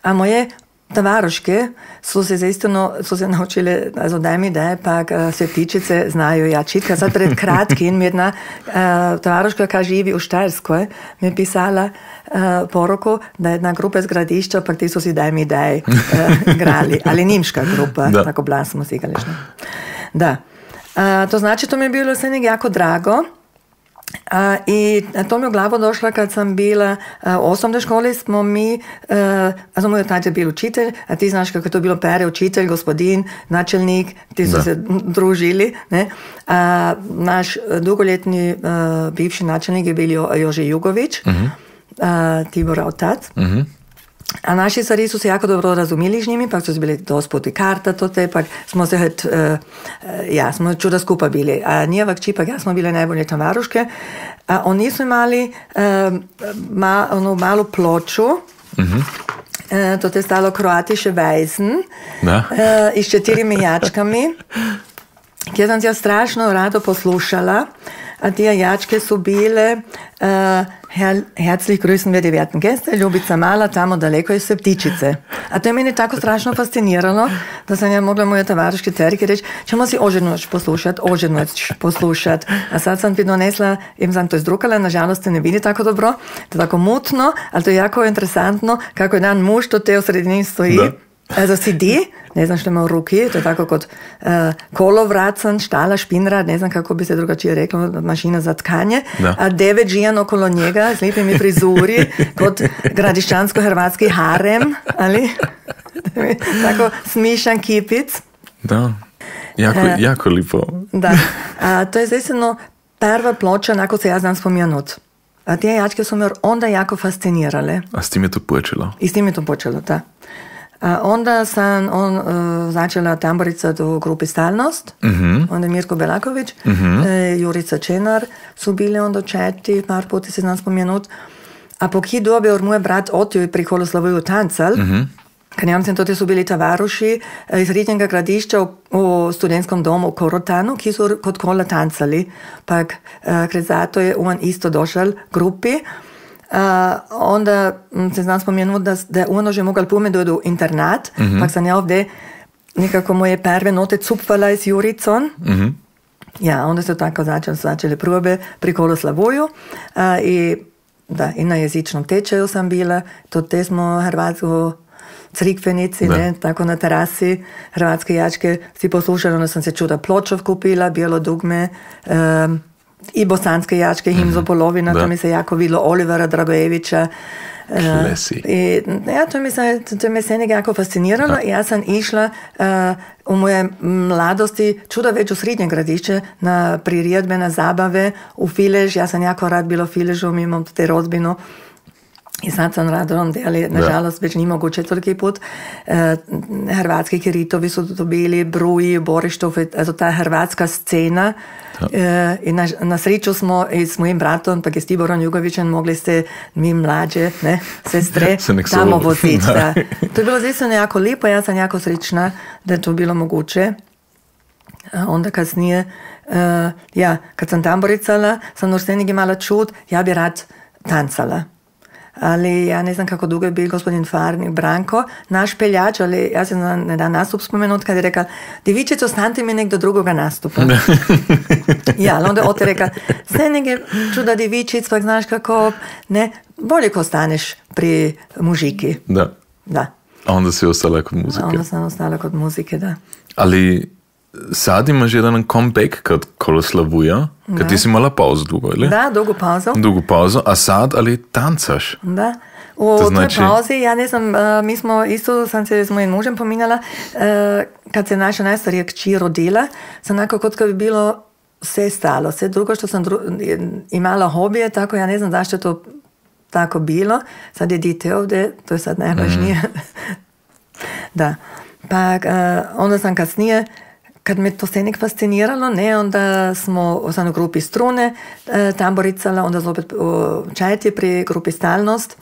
[SPEAKER 2] A moje tavaroške su se naučile, also daj mi daj, pa septičice znaju jačit. Kad sad pred kratkim jedna tavaroška, koja živi u Štajerskoj, mi je pisala poruku da jedna grupa iz Gradišća, pa ti su si daj mi daj grali. Ali nimška grupa, tako blas smo si igrali. Da. To znači, to mi je bilo sve jako drago. I to mi je u glavu došlo kad sam bila u osnovnoj školi, smo mi, moj otac je bil učitelj, a ti znaš kako je to bilo pere, učitelj, gospodin, načelnik, ti su se družili. Ne? Naš dugoletni bivši načelnik je bil Jože Jugović, Tibora otac. A naši stari su se jako dobro razumili z njimi, pa su bili dospoti karta, pa smo se smo čuda skupa bili. A njeva kći, pa ja smo bile najbolje tavaruške. A oni su imali onu malu ploču, to je stalo Kroatische Weisen, i s 4 jačkami, kjer sam se ja strašno rado poslušala. A tije jačke su bile herzlich grüßen wir die werten Gäste, Ljubica Mala, tamo daleko iz Septičice. A to je meni tako strašno fasciniralo, da sam ja mogla moje tavariške terike reći, ćemo si oženoć poslušat. A sad sam ti donesla, im sam to izdrukala, nažalost se ne vidi tako dobro, to je tako mutno, ali to je jako interesantno, kako je dan muž, to te u sredini stoji. Za CD, ne znam što ima u ruki, to je tako kot kolovracan, štala, špinrad, ne znam kako bi se drugačije reklo, mašina za tkanje, a 9 žijan okolo njega s lijepimi frizuri, kot gradišćansko-hrvatski harem, ali tako smišan kipic.
[SPEAKER 1] Da, jako lipo.
[SPEAKER 2] Da, a to je zaistino prva ploča, onako se ja znam spomenut. A te jačke su me onda jako fascinirale.
[SPEAKER 1] A s tim je to počelo?
[SPEAKER 2] I s tim je to počelo, da. A onda sam začela tamboricat u grupi Stalnost, onda je Mirko Belaković, Jurica Čenar su bili onda četi, par puti se znam spomenut. A po ki dobi moj brat otio i pri Kruslavuju tancal, Kanjamci tudi so bili tovaruši iz Ridnjega gradišča v studentskom domu v Korotanu, ki so kot kola tancali. Pak zato je on isto došel grupi. Onda se znam spomenuti, da je ono že mogel pomedati v internat, pak sam ja ovdje nekako moje prve note cupvala s Juricom. Ja, onda su tako začeli probe pri Koloslavuju i na jezičnom tečaju sam bila, te smo hrvatsku crikvenici, ne, tako na terasi, hrvatske jačke si poslušala, onda sam se čuda Pločov kupila, bijelo dugme, i bosanske jačke, Himzo Polovina, to mi se jako vidlo Olivera Dragojevića. I to me se nekako jako fasciniralo. Ja sam išla u moje mladosti čuda već u Srednje gradišće na priredbe, na zabave u Filež. Ja sam jako rad bilo u Filežu, mi imam te rodbinu. I sad sam rado onda, ali nažalost već nije moguće toliki put. Hrvatski kiritovi su to bili, Bruji, Borištov, also ta hrvatska scena. I na sreću smo i s mojim bratom, pa i s Tiborom Jugovićem mogli ste mi mlađe, ne, sestre, tamo voziti. To je bilo zaista jako lijepo, ja sam jako srećna da je to bilo moguće. Onda kasnije, kad sam tamboricala, sam još senigi mala čut, ja bi rad tancala. Ali ja ne znam kako dugo je bil gospodin Farnik Branko, naš peljač, ali ja sam na jedan nastup spomenut kad je rekao, divičić, ostanite mi nek do drugoga nastupa. Ja, ali onda ote rekao, sve neke čuda divičić, pak znaš kako, ne, bolje ko staneš pri mužiki. Da.
[SPEAKER 1] A onda si ostala kod muzike.
[SPEAKER 2] Onda sam ostala kod muzike, da.
[SPEAKER 1] Ali sad imaš jedan comeback kod Koloslavuja, kad ti si imala pauzu dugo, ili?
[SPEAKER 2] Da, dugu pauzu.
[SPEAKER 1] Dugu pauzu, a sad, ali tancaš.
[SPEAKER 2] Da. U toj pauzi, ja ne znam, mi smo isto, sam se s mojim mužem pominjala, kad se naša najstarija kći rodila, sam onako kod kad bi bilo sve stalo, sve drugo što sam imala hobije, tako ja ne znam zašto je to tako bilo. Sad je dite ovdje, to je sad najvažnije. Da. Pa onda sam kasnije, kad me to se nek fasciniralo, ne, onda sam u grupi Strune tamboricala, onda sam opet čajti pri grupi Stalnost.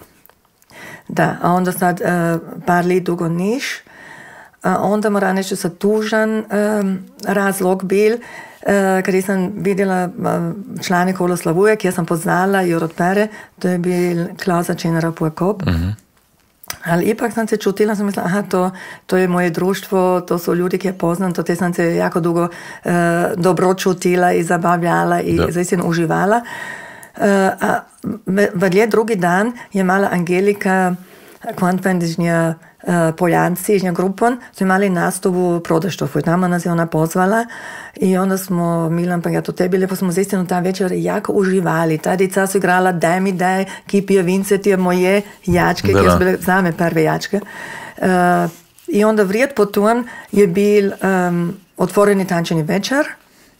[SPEAKER 2] Da, a onda sad par let dugo niš. Onda moram reći sa tužan razlog bil, kad sam vidjela člane Koloslavuja, kjer sam poznala i od pere, to je bil Klausa Čenera Pojkop. Ali ipak sam se čutila, sam mislila, to je moje društvo, to su ljudi, ki je poznam, to te sam se jako dugo dobro čutila i zabavljala i zaistino uživala. A vedlje drugi dan je mala Angelika Kvantvendižnja Poljanci, ižnja grupon, su imali nastupu u Prodaštofu i tamo nas je ona pozvala i onda smo, Milan pa ja to tebi, lepo smo zaistino ta večer jako uživali. Ta dica su igrala Daj mi daj, Kipije Vince, tije moje jačke, ki su bile zame prve jačke. I onda vrijed potom je bil otvoreni tančeni večer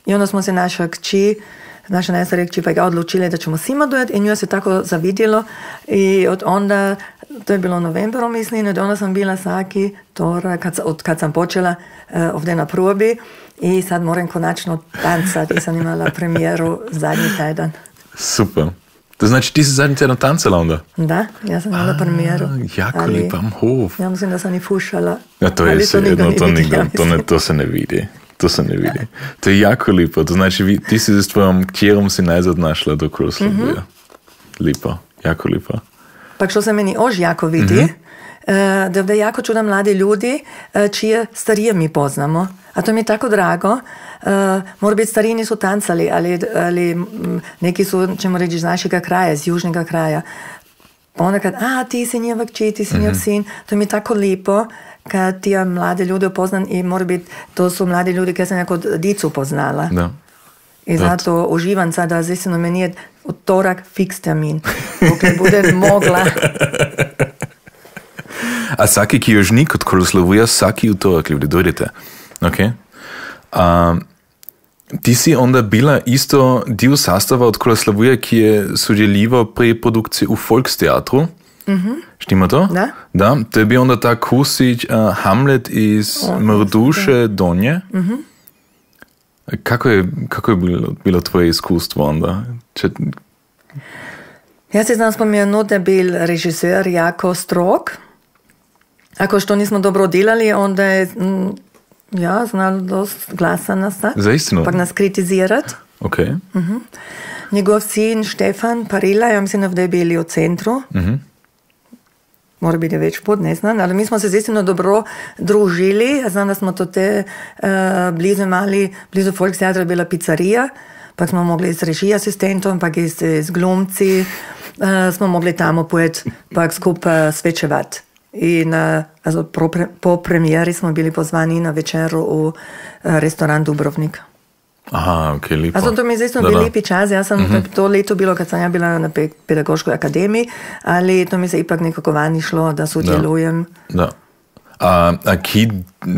[SPEAKER 2] i onda smo se naša najstarija kći pa ga odlučili da ćemo sima dojeti i nju se tako zavidjelo i od onda, to je bilo u novembru mislim, i od onda sam bila svaki torak, kad sam počela ovdje na probi i sad moram konačno tancati i sam imala premijeru zadnji tjedan.
[SPEAKER 1] Super. To znači ti si zadnji tjedan tancala onda?
[SPEAKER 2] Da, ja sam imala premijeru.
[SPEAKER 1] Jako lipa hov.
[SPEAKER 2] Ja mislim da sam i fušala.
[SPEAKER 1] Ja, to je to se ne vidi. To se ne vidi. To je jako lipo. To znači ti si s tvojom kćerom si najzad našla do Koloslavuja. Lipo, jako lipo.
[SPEAKER 2] Pa što se meni ož jako vidi, da ovdje jako čuda mladi ljudi čije starije mi poznamo. A to mi je tako drago. Mora biti stariji nisu tancali, ali neki su, ćemo reći, iz našega kraja, iz južnega kraja. Ponekad, ti si njeva kći, ti si njev sin. To mi je tako lipo kad ti mlade ljude upoznam i mora biti, to su mladi ljudi koji sam jako dicu poznala.
[SPEAKER 1] Da.
[SPEAKER 2] I zato uživam sada, zaistino meni je utorak fiks termin. Dokle budem mogla.
[SPEAKER 1] A svaki, ki još ni kod Koloslavuja, svaki utorak ljudi, dojdete. Ok? Ti si onda bila isto dio sastava od Koloslavuja, ki je sudjeljivao pri produkciji u Volksteatru. Štima to?
[SPEAKER 2] Da.
[SPEAKER 1] Da, to je bio onda ta Kusić Hamlet iz Mrduše Donje. Kako je bilo tvoje iskustvo onda?
[SPEAKER 2] Ja se znam spomenuti da je bil režiser jako strog Ako što nismo dobro delali, onda je znal dost glasa nastati.
[SPEAKER 1] Za istinu?
[SPEAKER 2] Pa nas kritizirati.
[SPEAKER 1] Ok.
[SPEAKER 2] Njegov sin Štefan Parila, ja mislim da je bili u centru. Mora biti već put, ne znam, ali mi smo se zaistino dobro družili. Ja znam da smo to blizu Volkstheatra je bila pizzerija, pa smo mogli s režij asistentom, pa s glumci, smo mogli tamo pojeti, pa skupaj svečevati. In po premijeri smo bili pozvani na večeru v restoran Dubrovnik.
[SPEAKER 1] Aha, ok, lepo.
[SPEAKER 2] To mi je zaistino bil lepi čas. Ja sam to leto bilo, kad sam ja bila na pedagoškoj akademiji, ali to mi se ipak nekako vani šlo, da sudjelujem.
[SPEAKER 1] Da. A ki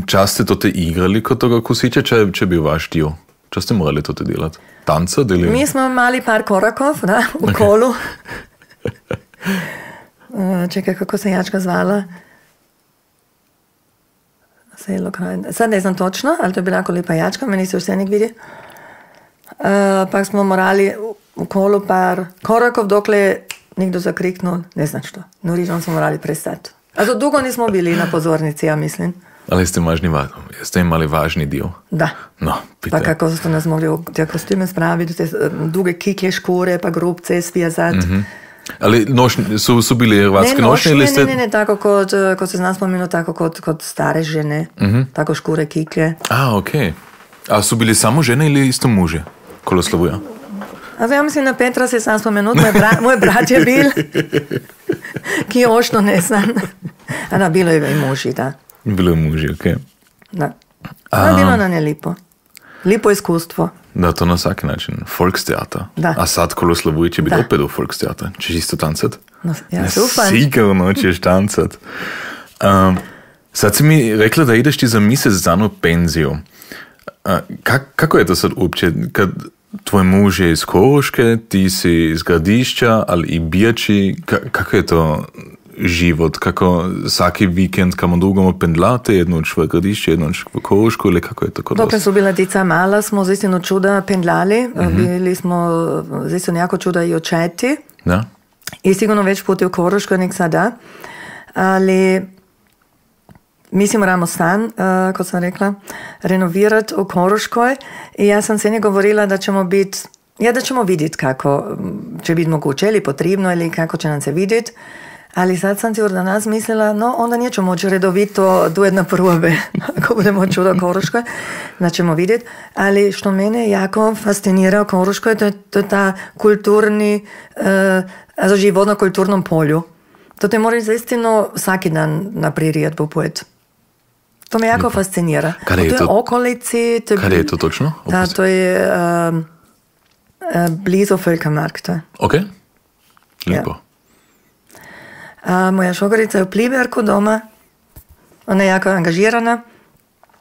[SPEAKER 1] čas ste to igrali kot toga kusića, če bi vaš dio? Če ste morali to delati? Tanca?
[SPEAKER 2] Mi smo imali par korakov, da, v kolu. Čekaj, kako se jačka zvala? Sad ne znam točno, ali to je bila jako lepa jačka, meni se vse nek vidi. Pa smo morali v kolu par korakov, dokle nekdo zakriknul, ne znam što. Norižom smo morali prestati. Dugo nismo bili na pozornici, ja mislim.
[SPEAKER 1] Ali ste imali važni dio?
[SPEAKER 2] Da.
[SPEAKER 1] No,
[SPEAKER 2] pa kako ste nas mogli v te kostime spraviti, te duge kiklje škure, pa grobce svijazati.
[SPEAKER 1] Ali su bili hrvatske nošnje ili ste...
[SPEAKER 2] Ne, tako kot se znam spomenuo, tako kot stare žene, tako škure, kiklje.
[SPEAKER 1] Ok. A su bili samo žene ili isto muže? Koloslovuja?
[SPEAKER 2] Ja mislim, na Petra se sam spomenut, moj brat je bil, ki ošto ne znam. Da, bilo je i muži, da.
[SPEAKER 1] Bilo je muži, ok.
[SPEAKER 2] Da. Bilo nam je lipo. Lipo iskustvo.
[SPEAKER 1] Da, to na vsaki način. Volkstheater.
[SPEAKER 2] Da.
[SPEAKER 1] A sad Koloslovuj će biti opet u Volkstheater. Češ isto tancat?
[SPEAKER 2] No, ja, super.
[SPEAKER 1] Sigurno ćeš tancat. Sad si mi rekla da ideš ti za mjesec dana u penziju. Kako je to sad uopće, kad tvoj muž je iz Koroške, ti si iz Gradišća, ali i Birči, kako je to život, kako svaki vikend kamo dugamo pendlate, jedno v Gradišće, jedno v Korošku, ili kako je to kod vas?
[SPEAKER 2] Dokle su bila dica mala, smo zaistino čuda pendlali, bili smo zaistino jako čuda i očeti.
[SPEAKER 1] Da.
[SPEAKER 2] I sigurno već puti u Korošku, nek sada, ali mi si moramo stan, kot sam rekla, renovirati u Koroškoj i ja sam se nje govorila da ćemo biti, da ćemo vidjeti kako će biti moguće ili potrebno ili kako će nam se vidjeti. Ali sad sam sigurno danas mislila, no onda nećemo moći redovito duet na probe, ako budemo čudo u Koroškoj, da ćemo vidjeti. Ali što mene jako fascinira u Koroškoj, to je ta kulturni, život na kulturnom polju. To te moraš zaistino svaki dan na priredbu pojeti. To me jako fascinira.
[SPEAKER 1] Kada je to?
[SPEAKER 2] Okolici.
[SPEAKER 1] Kada je to točno?
[SPEAKER 2] Da, to je blizu Völkermarkta.
[SPEAKER 1] Ok, lijepo.
[SPEAKER 2] Ja. Moja šogorica je u Pliberku doma. Ona je jako angažirana.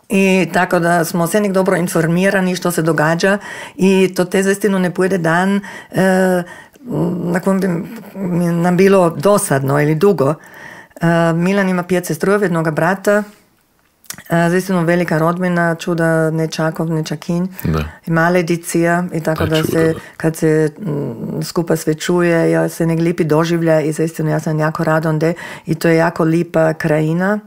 [SPEAKER 2] I tako da smo se nek dobro informirani što se događa. I to te zaistino ne pojede dan na kojem bi nam bilo dosadno ili dugo. Milan ima 5 sestrujeva, jednoga brata. Zaistino velika rodbina, čuda nečakov, nečakinj. I male dicija. I tako da se, kad se skupa svečuje, ja se nek lipi doživlja i zaistino ja sam jako rada onda. I to je jako lipa krajina.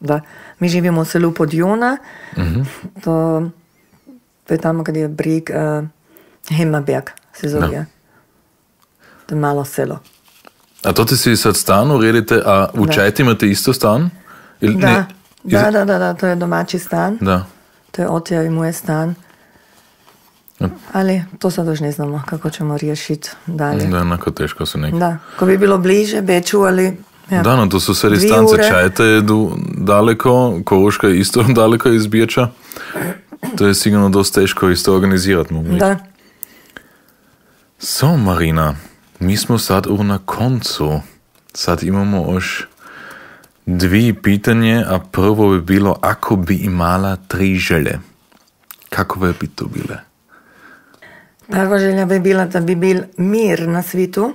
[SPEAKER 2] Da. Mi živimo u selu Podjuna. To je tamo kad je brig Hemmerberg se zove. No. To je malo selo.
[SPEAKER 1] A to ti si sad stan uredite, a u Čajti imate isto stan?
[SPEAKER 2] Da, to je domaći stan.
[SPEAKER 1] Da.
[SPEAKER 2] To je otja i moj stan. Ali to sad još ne znamo kako ćemo riješiti dalje.
[SPEAKER 1] Da, onako teško su neki.
[SPEAKER 2] Da, ko bi bilo bliže Beču, ali... Ja.
[SPEAKER 1] Da, no to su sve distance. Čajte je daleko, Koroška je isto daleko iz Birča. To je sigurno dosta teško isto organizirati.
[SPEAKER 2] Da.
[SPEAKER 1] So, Marina, mi smo sad na koncu. Sad imamo još 2 pitanje, a prvo bi bilo, ako bi imala 3 želje, kako bi to bile?
[SPEAKER 2] Prva želja bi bila da bi bil mir na svitu.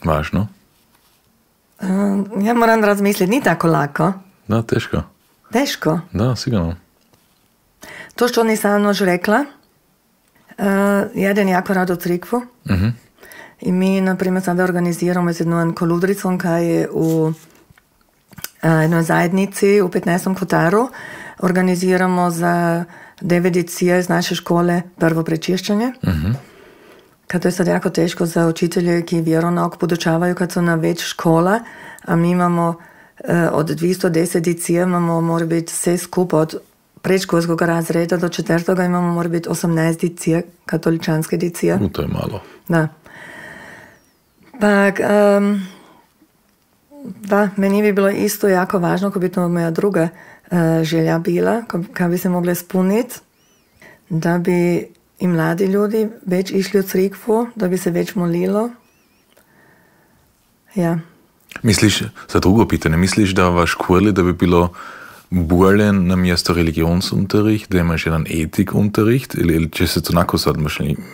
[SPEAKER 1] Važno.
[SPEAKER 2] Ja moram razmisliti, ni tako lako.
[SPEAKER 1] Da, teško.
[SPEAKER 2] Teško?
[SPEAKER 1] Da, sigurno.
[SPEAKER 2] To što nisam još rekla, jedan jako rado u crikvu. I mi, na primer, sada organiziramo z jednom koludricom, kaj je v jednoj zajednici u 15. kvartaru. Organiziramo za 9 djece iz naše škole prvo prečišćenje. Kad to je sad jako teško za učitelje ki vjeronauk podučavaju kad su na već škola, a mi imamo od 210 djece imamo, mora biti sve skupa od predškolskog razreda do 4. imamo, mora biti 18 djece, katoličanske djece.
[SPEAKER 1] To je malo.
[SPEAKER 2] Da. Pa, da, meni bi bilo isto jako važno, ko bi to moja druga želja bila, kad bi se mogla ispuniti, da bi i mladi ljudi već išli u crikvu, da bi se već molilo. Ja.
[SPEAKER 1] Misliš, za drugo pitanje, misliš da v školi, da bi bilo bolje na mjesto religionsunterricht, da imaš jedan etikunterricht, ili će se to onako sad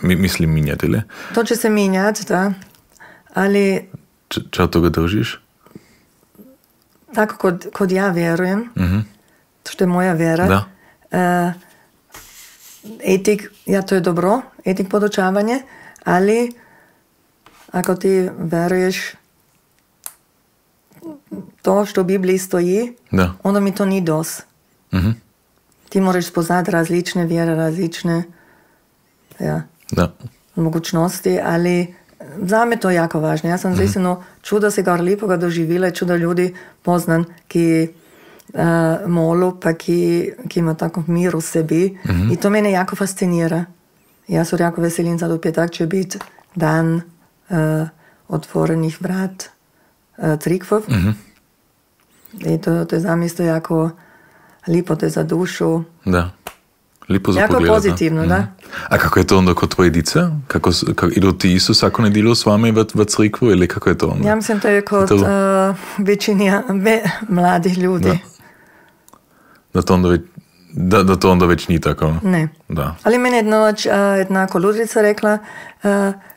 [SPEAKER 1] misli minjati, ili?
[SPEAKER 2] To će se minjati, da. Ali...
[SPEAKER 1] Če od toga držiš?
[SPEAKER 2] Tako kod ja vjerujem, što je moja vjera,
[SPEAKER 1] da.
[SPEAKER 2] Etik, ja, to je dobro, etik podučavanje, ali ako ti veruješ to što u Bibliji stoji,
[SPEAKER 1] da.
[SPEAKER 2] Onda mi to ni dos. Ti moraš spoznati različne vjere, različne mogućnosti, ali za me to jako važno. Ja sam zaistino čuda se gar lipoga doživila, čuda ljudi poznan, ki molu, pa ki ima tako mir u sebi. I to mene jako fascinira. Ja se jako veselim sad u petak će biti dan otvorenih vrat crikvov. I to je za me isto jako lipo, to je za dušu.
[SPEAKER 1] Da. Lipo za
[SPEAKER 2] jako
[SPEAKER 1] pogledat,
[SPEAKER 2] pozitivno, da.
[SPEAKER 1] A kako je to onda kod tvoje dice? Idu ti isto svako nedjelju s vama v crikvu ili kako je to onda?
[SPEAKER 2] Ja mislim to je kod većini mladih ljudi.
[SPEAKER 1] Da to onda već nije tako?
[SPEAKER 2] Ne.
[SPEAKER 1] Da.
[SPEAKER 2] Ali meni jedna koludrica rekla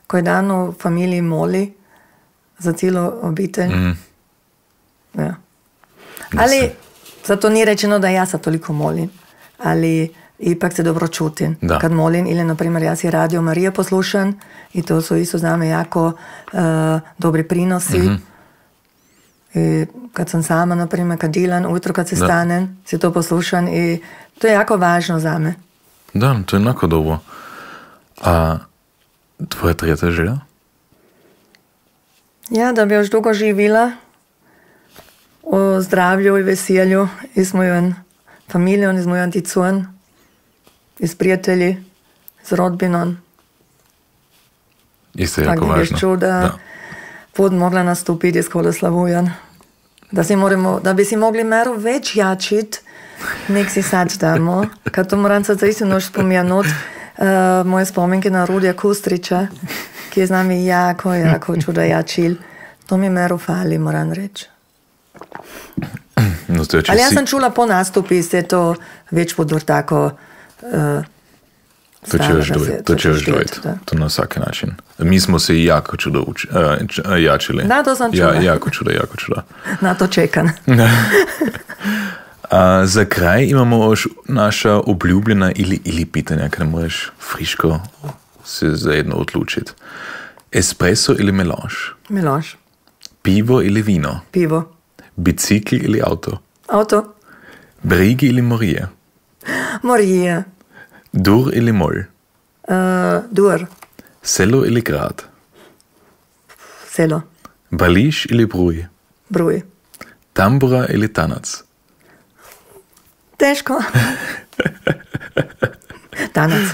[SPEAKER 2] koji dan u familiji moli za cijelu obitelj. Ja. Ali zato nije rečeno da ja sad toliko molim, ali ipak se dobro čutim kad molim, ili na primjer ja si Radio Marija poslušam i to su isto za me jako dobri prinosi. I kad sam sama, na primjer, kad dilan, ujutro kad se stanem, si to poslušam i to je jako važno za me.
[SPEAKER 1] Da, to je jako dobro. A tvoja tretja želja?
[SPEAKER 2] Ja, da bi još dugo živila o zdravlju i veselju i s mojom familijom, i s mojom dicom, i s prijatelji, s rodbinom.
[SPEAKER 1] Isto je jako važno.
[SPEAKER 2] Tak da pod mogla nastupiti s Holoslavujan. Da bi si mogli meru već jačit, nek si sad damo. Kad to moram sad zaistino još spomenut, moje spomenke na Rudija Kustrića, ki je z nami jako čuda jačil. To mi meru fali, moram reći.
[SPEAKER 1] No,
[SPEAKER 2] ali ja sam čula po nastupi se to već budu tako
[SPEAKER 1] to će još dojeti. To na svaki način. Mi smo se i jako čudo jačili.
[SPEAKER 2] Da, to sam čula.
[SPEAKER 1] Jako čuda.
[SPEAKER 2] Na to čekam.
[SPEAKER 1] Za kraj imamo još naša obljubljena ili pitanja, kada moraš friško se za jedno odlučiti. Espresso ili melange?
[SPEAKER 2] Melange.
[SPEAKER 1] Pivo ili vino?
[SPEAKER 2] Pivo.
[SPEAKER 1] Bicikl ili auto?
[SPEAKER 2] Auto.
[SPEAKER 1] Brigi ili morije?
[SPEAKER 2] Morije.
[SPEAKER 1] Dur ili mol?
[SPEAKER 2] Dur.
[SPEAKER 1] Selo ili grad?
[SPEAKER 2] Selo.
[SPEAKER 1] Bališ ili bruj?
[SPEAKER 2] Bruj.
[SPEAKER 1] Tambura ili tanac?
[SPEAKER 2] Teško. Tanac.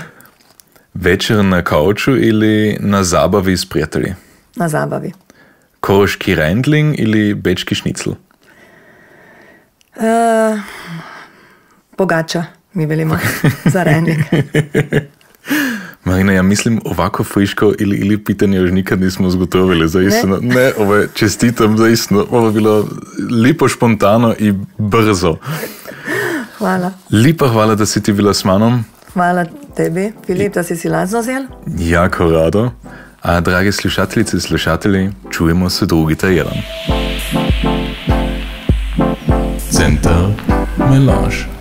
[SPEAKER 1] Večer na kauču ili na zabavi s prijatelji?
[SPEAKER 2] Na zabavi.
[SPEAKER 1] Koroški rendling ili bečki šnicl?
[SPEAKER 2] Pogača, mi velimo za rendling.
[SPEAKER 1] Marina, ja mislim ovako friško ili pitanje još nikad nismo zgotovili, zaistino. Ne, ovo je čestitam, zaistino. Ovo je bilo lipo, špontano i brzo.
[SPEAKER 2] Hvala.
[SPEAKER 1] Lipa hvala, da si ti bila s manom.
[SPEAKER 2] Hvala tebi, Filip, da si lazno zel.
[SPEAKER 1] Jako rado. A drage slušateljice i slušatelji, čujemo se drugi tjedan. Centar Melange.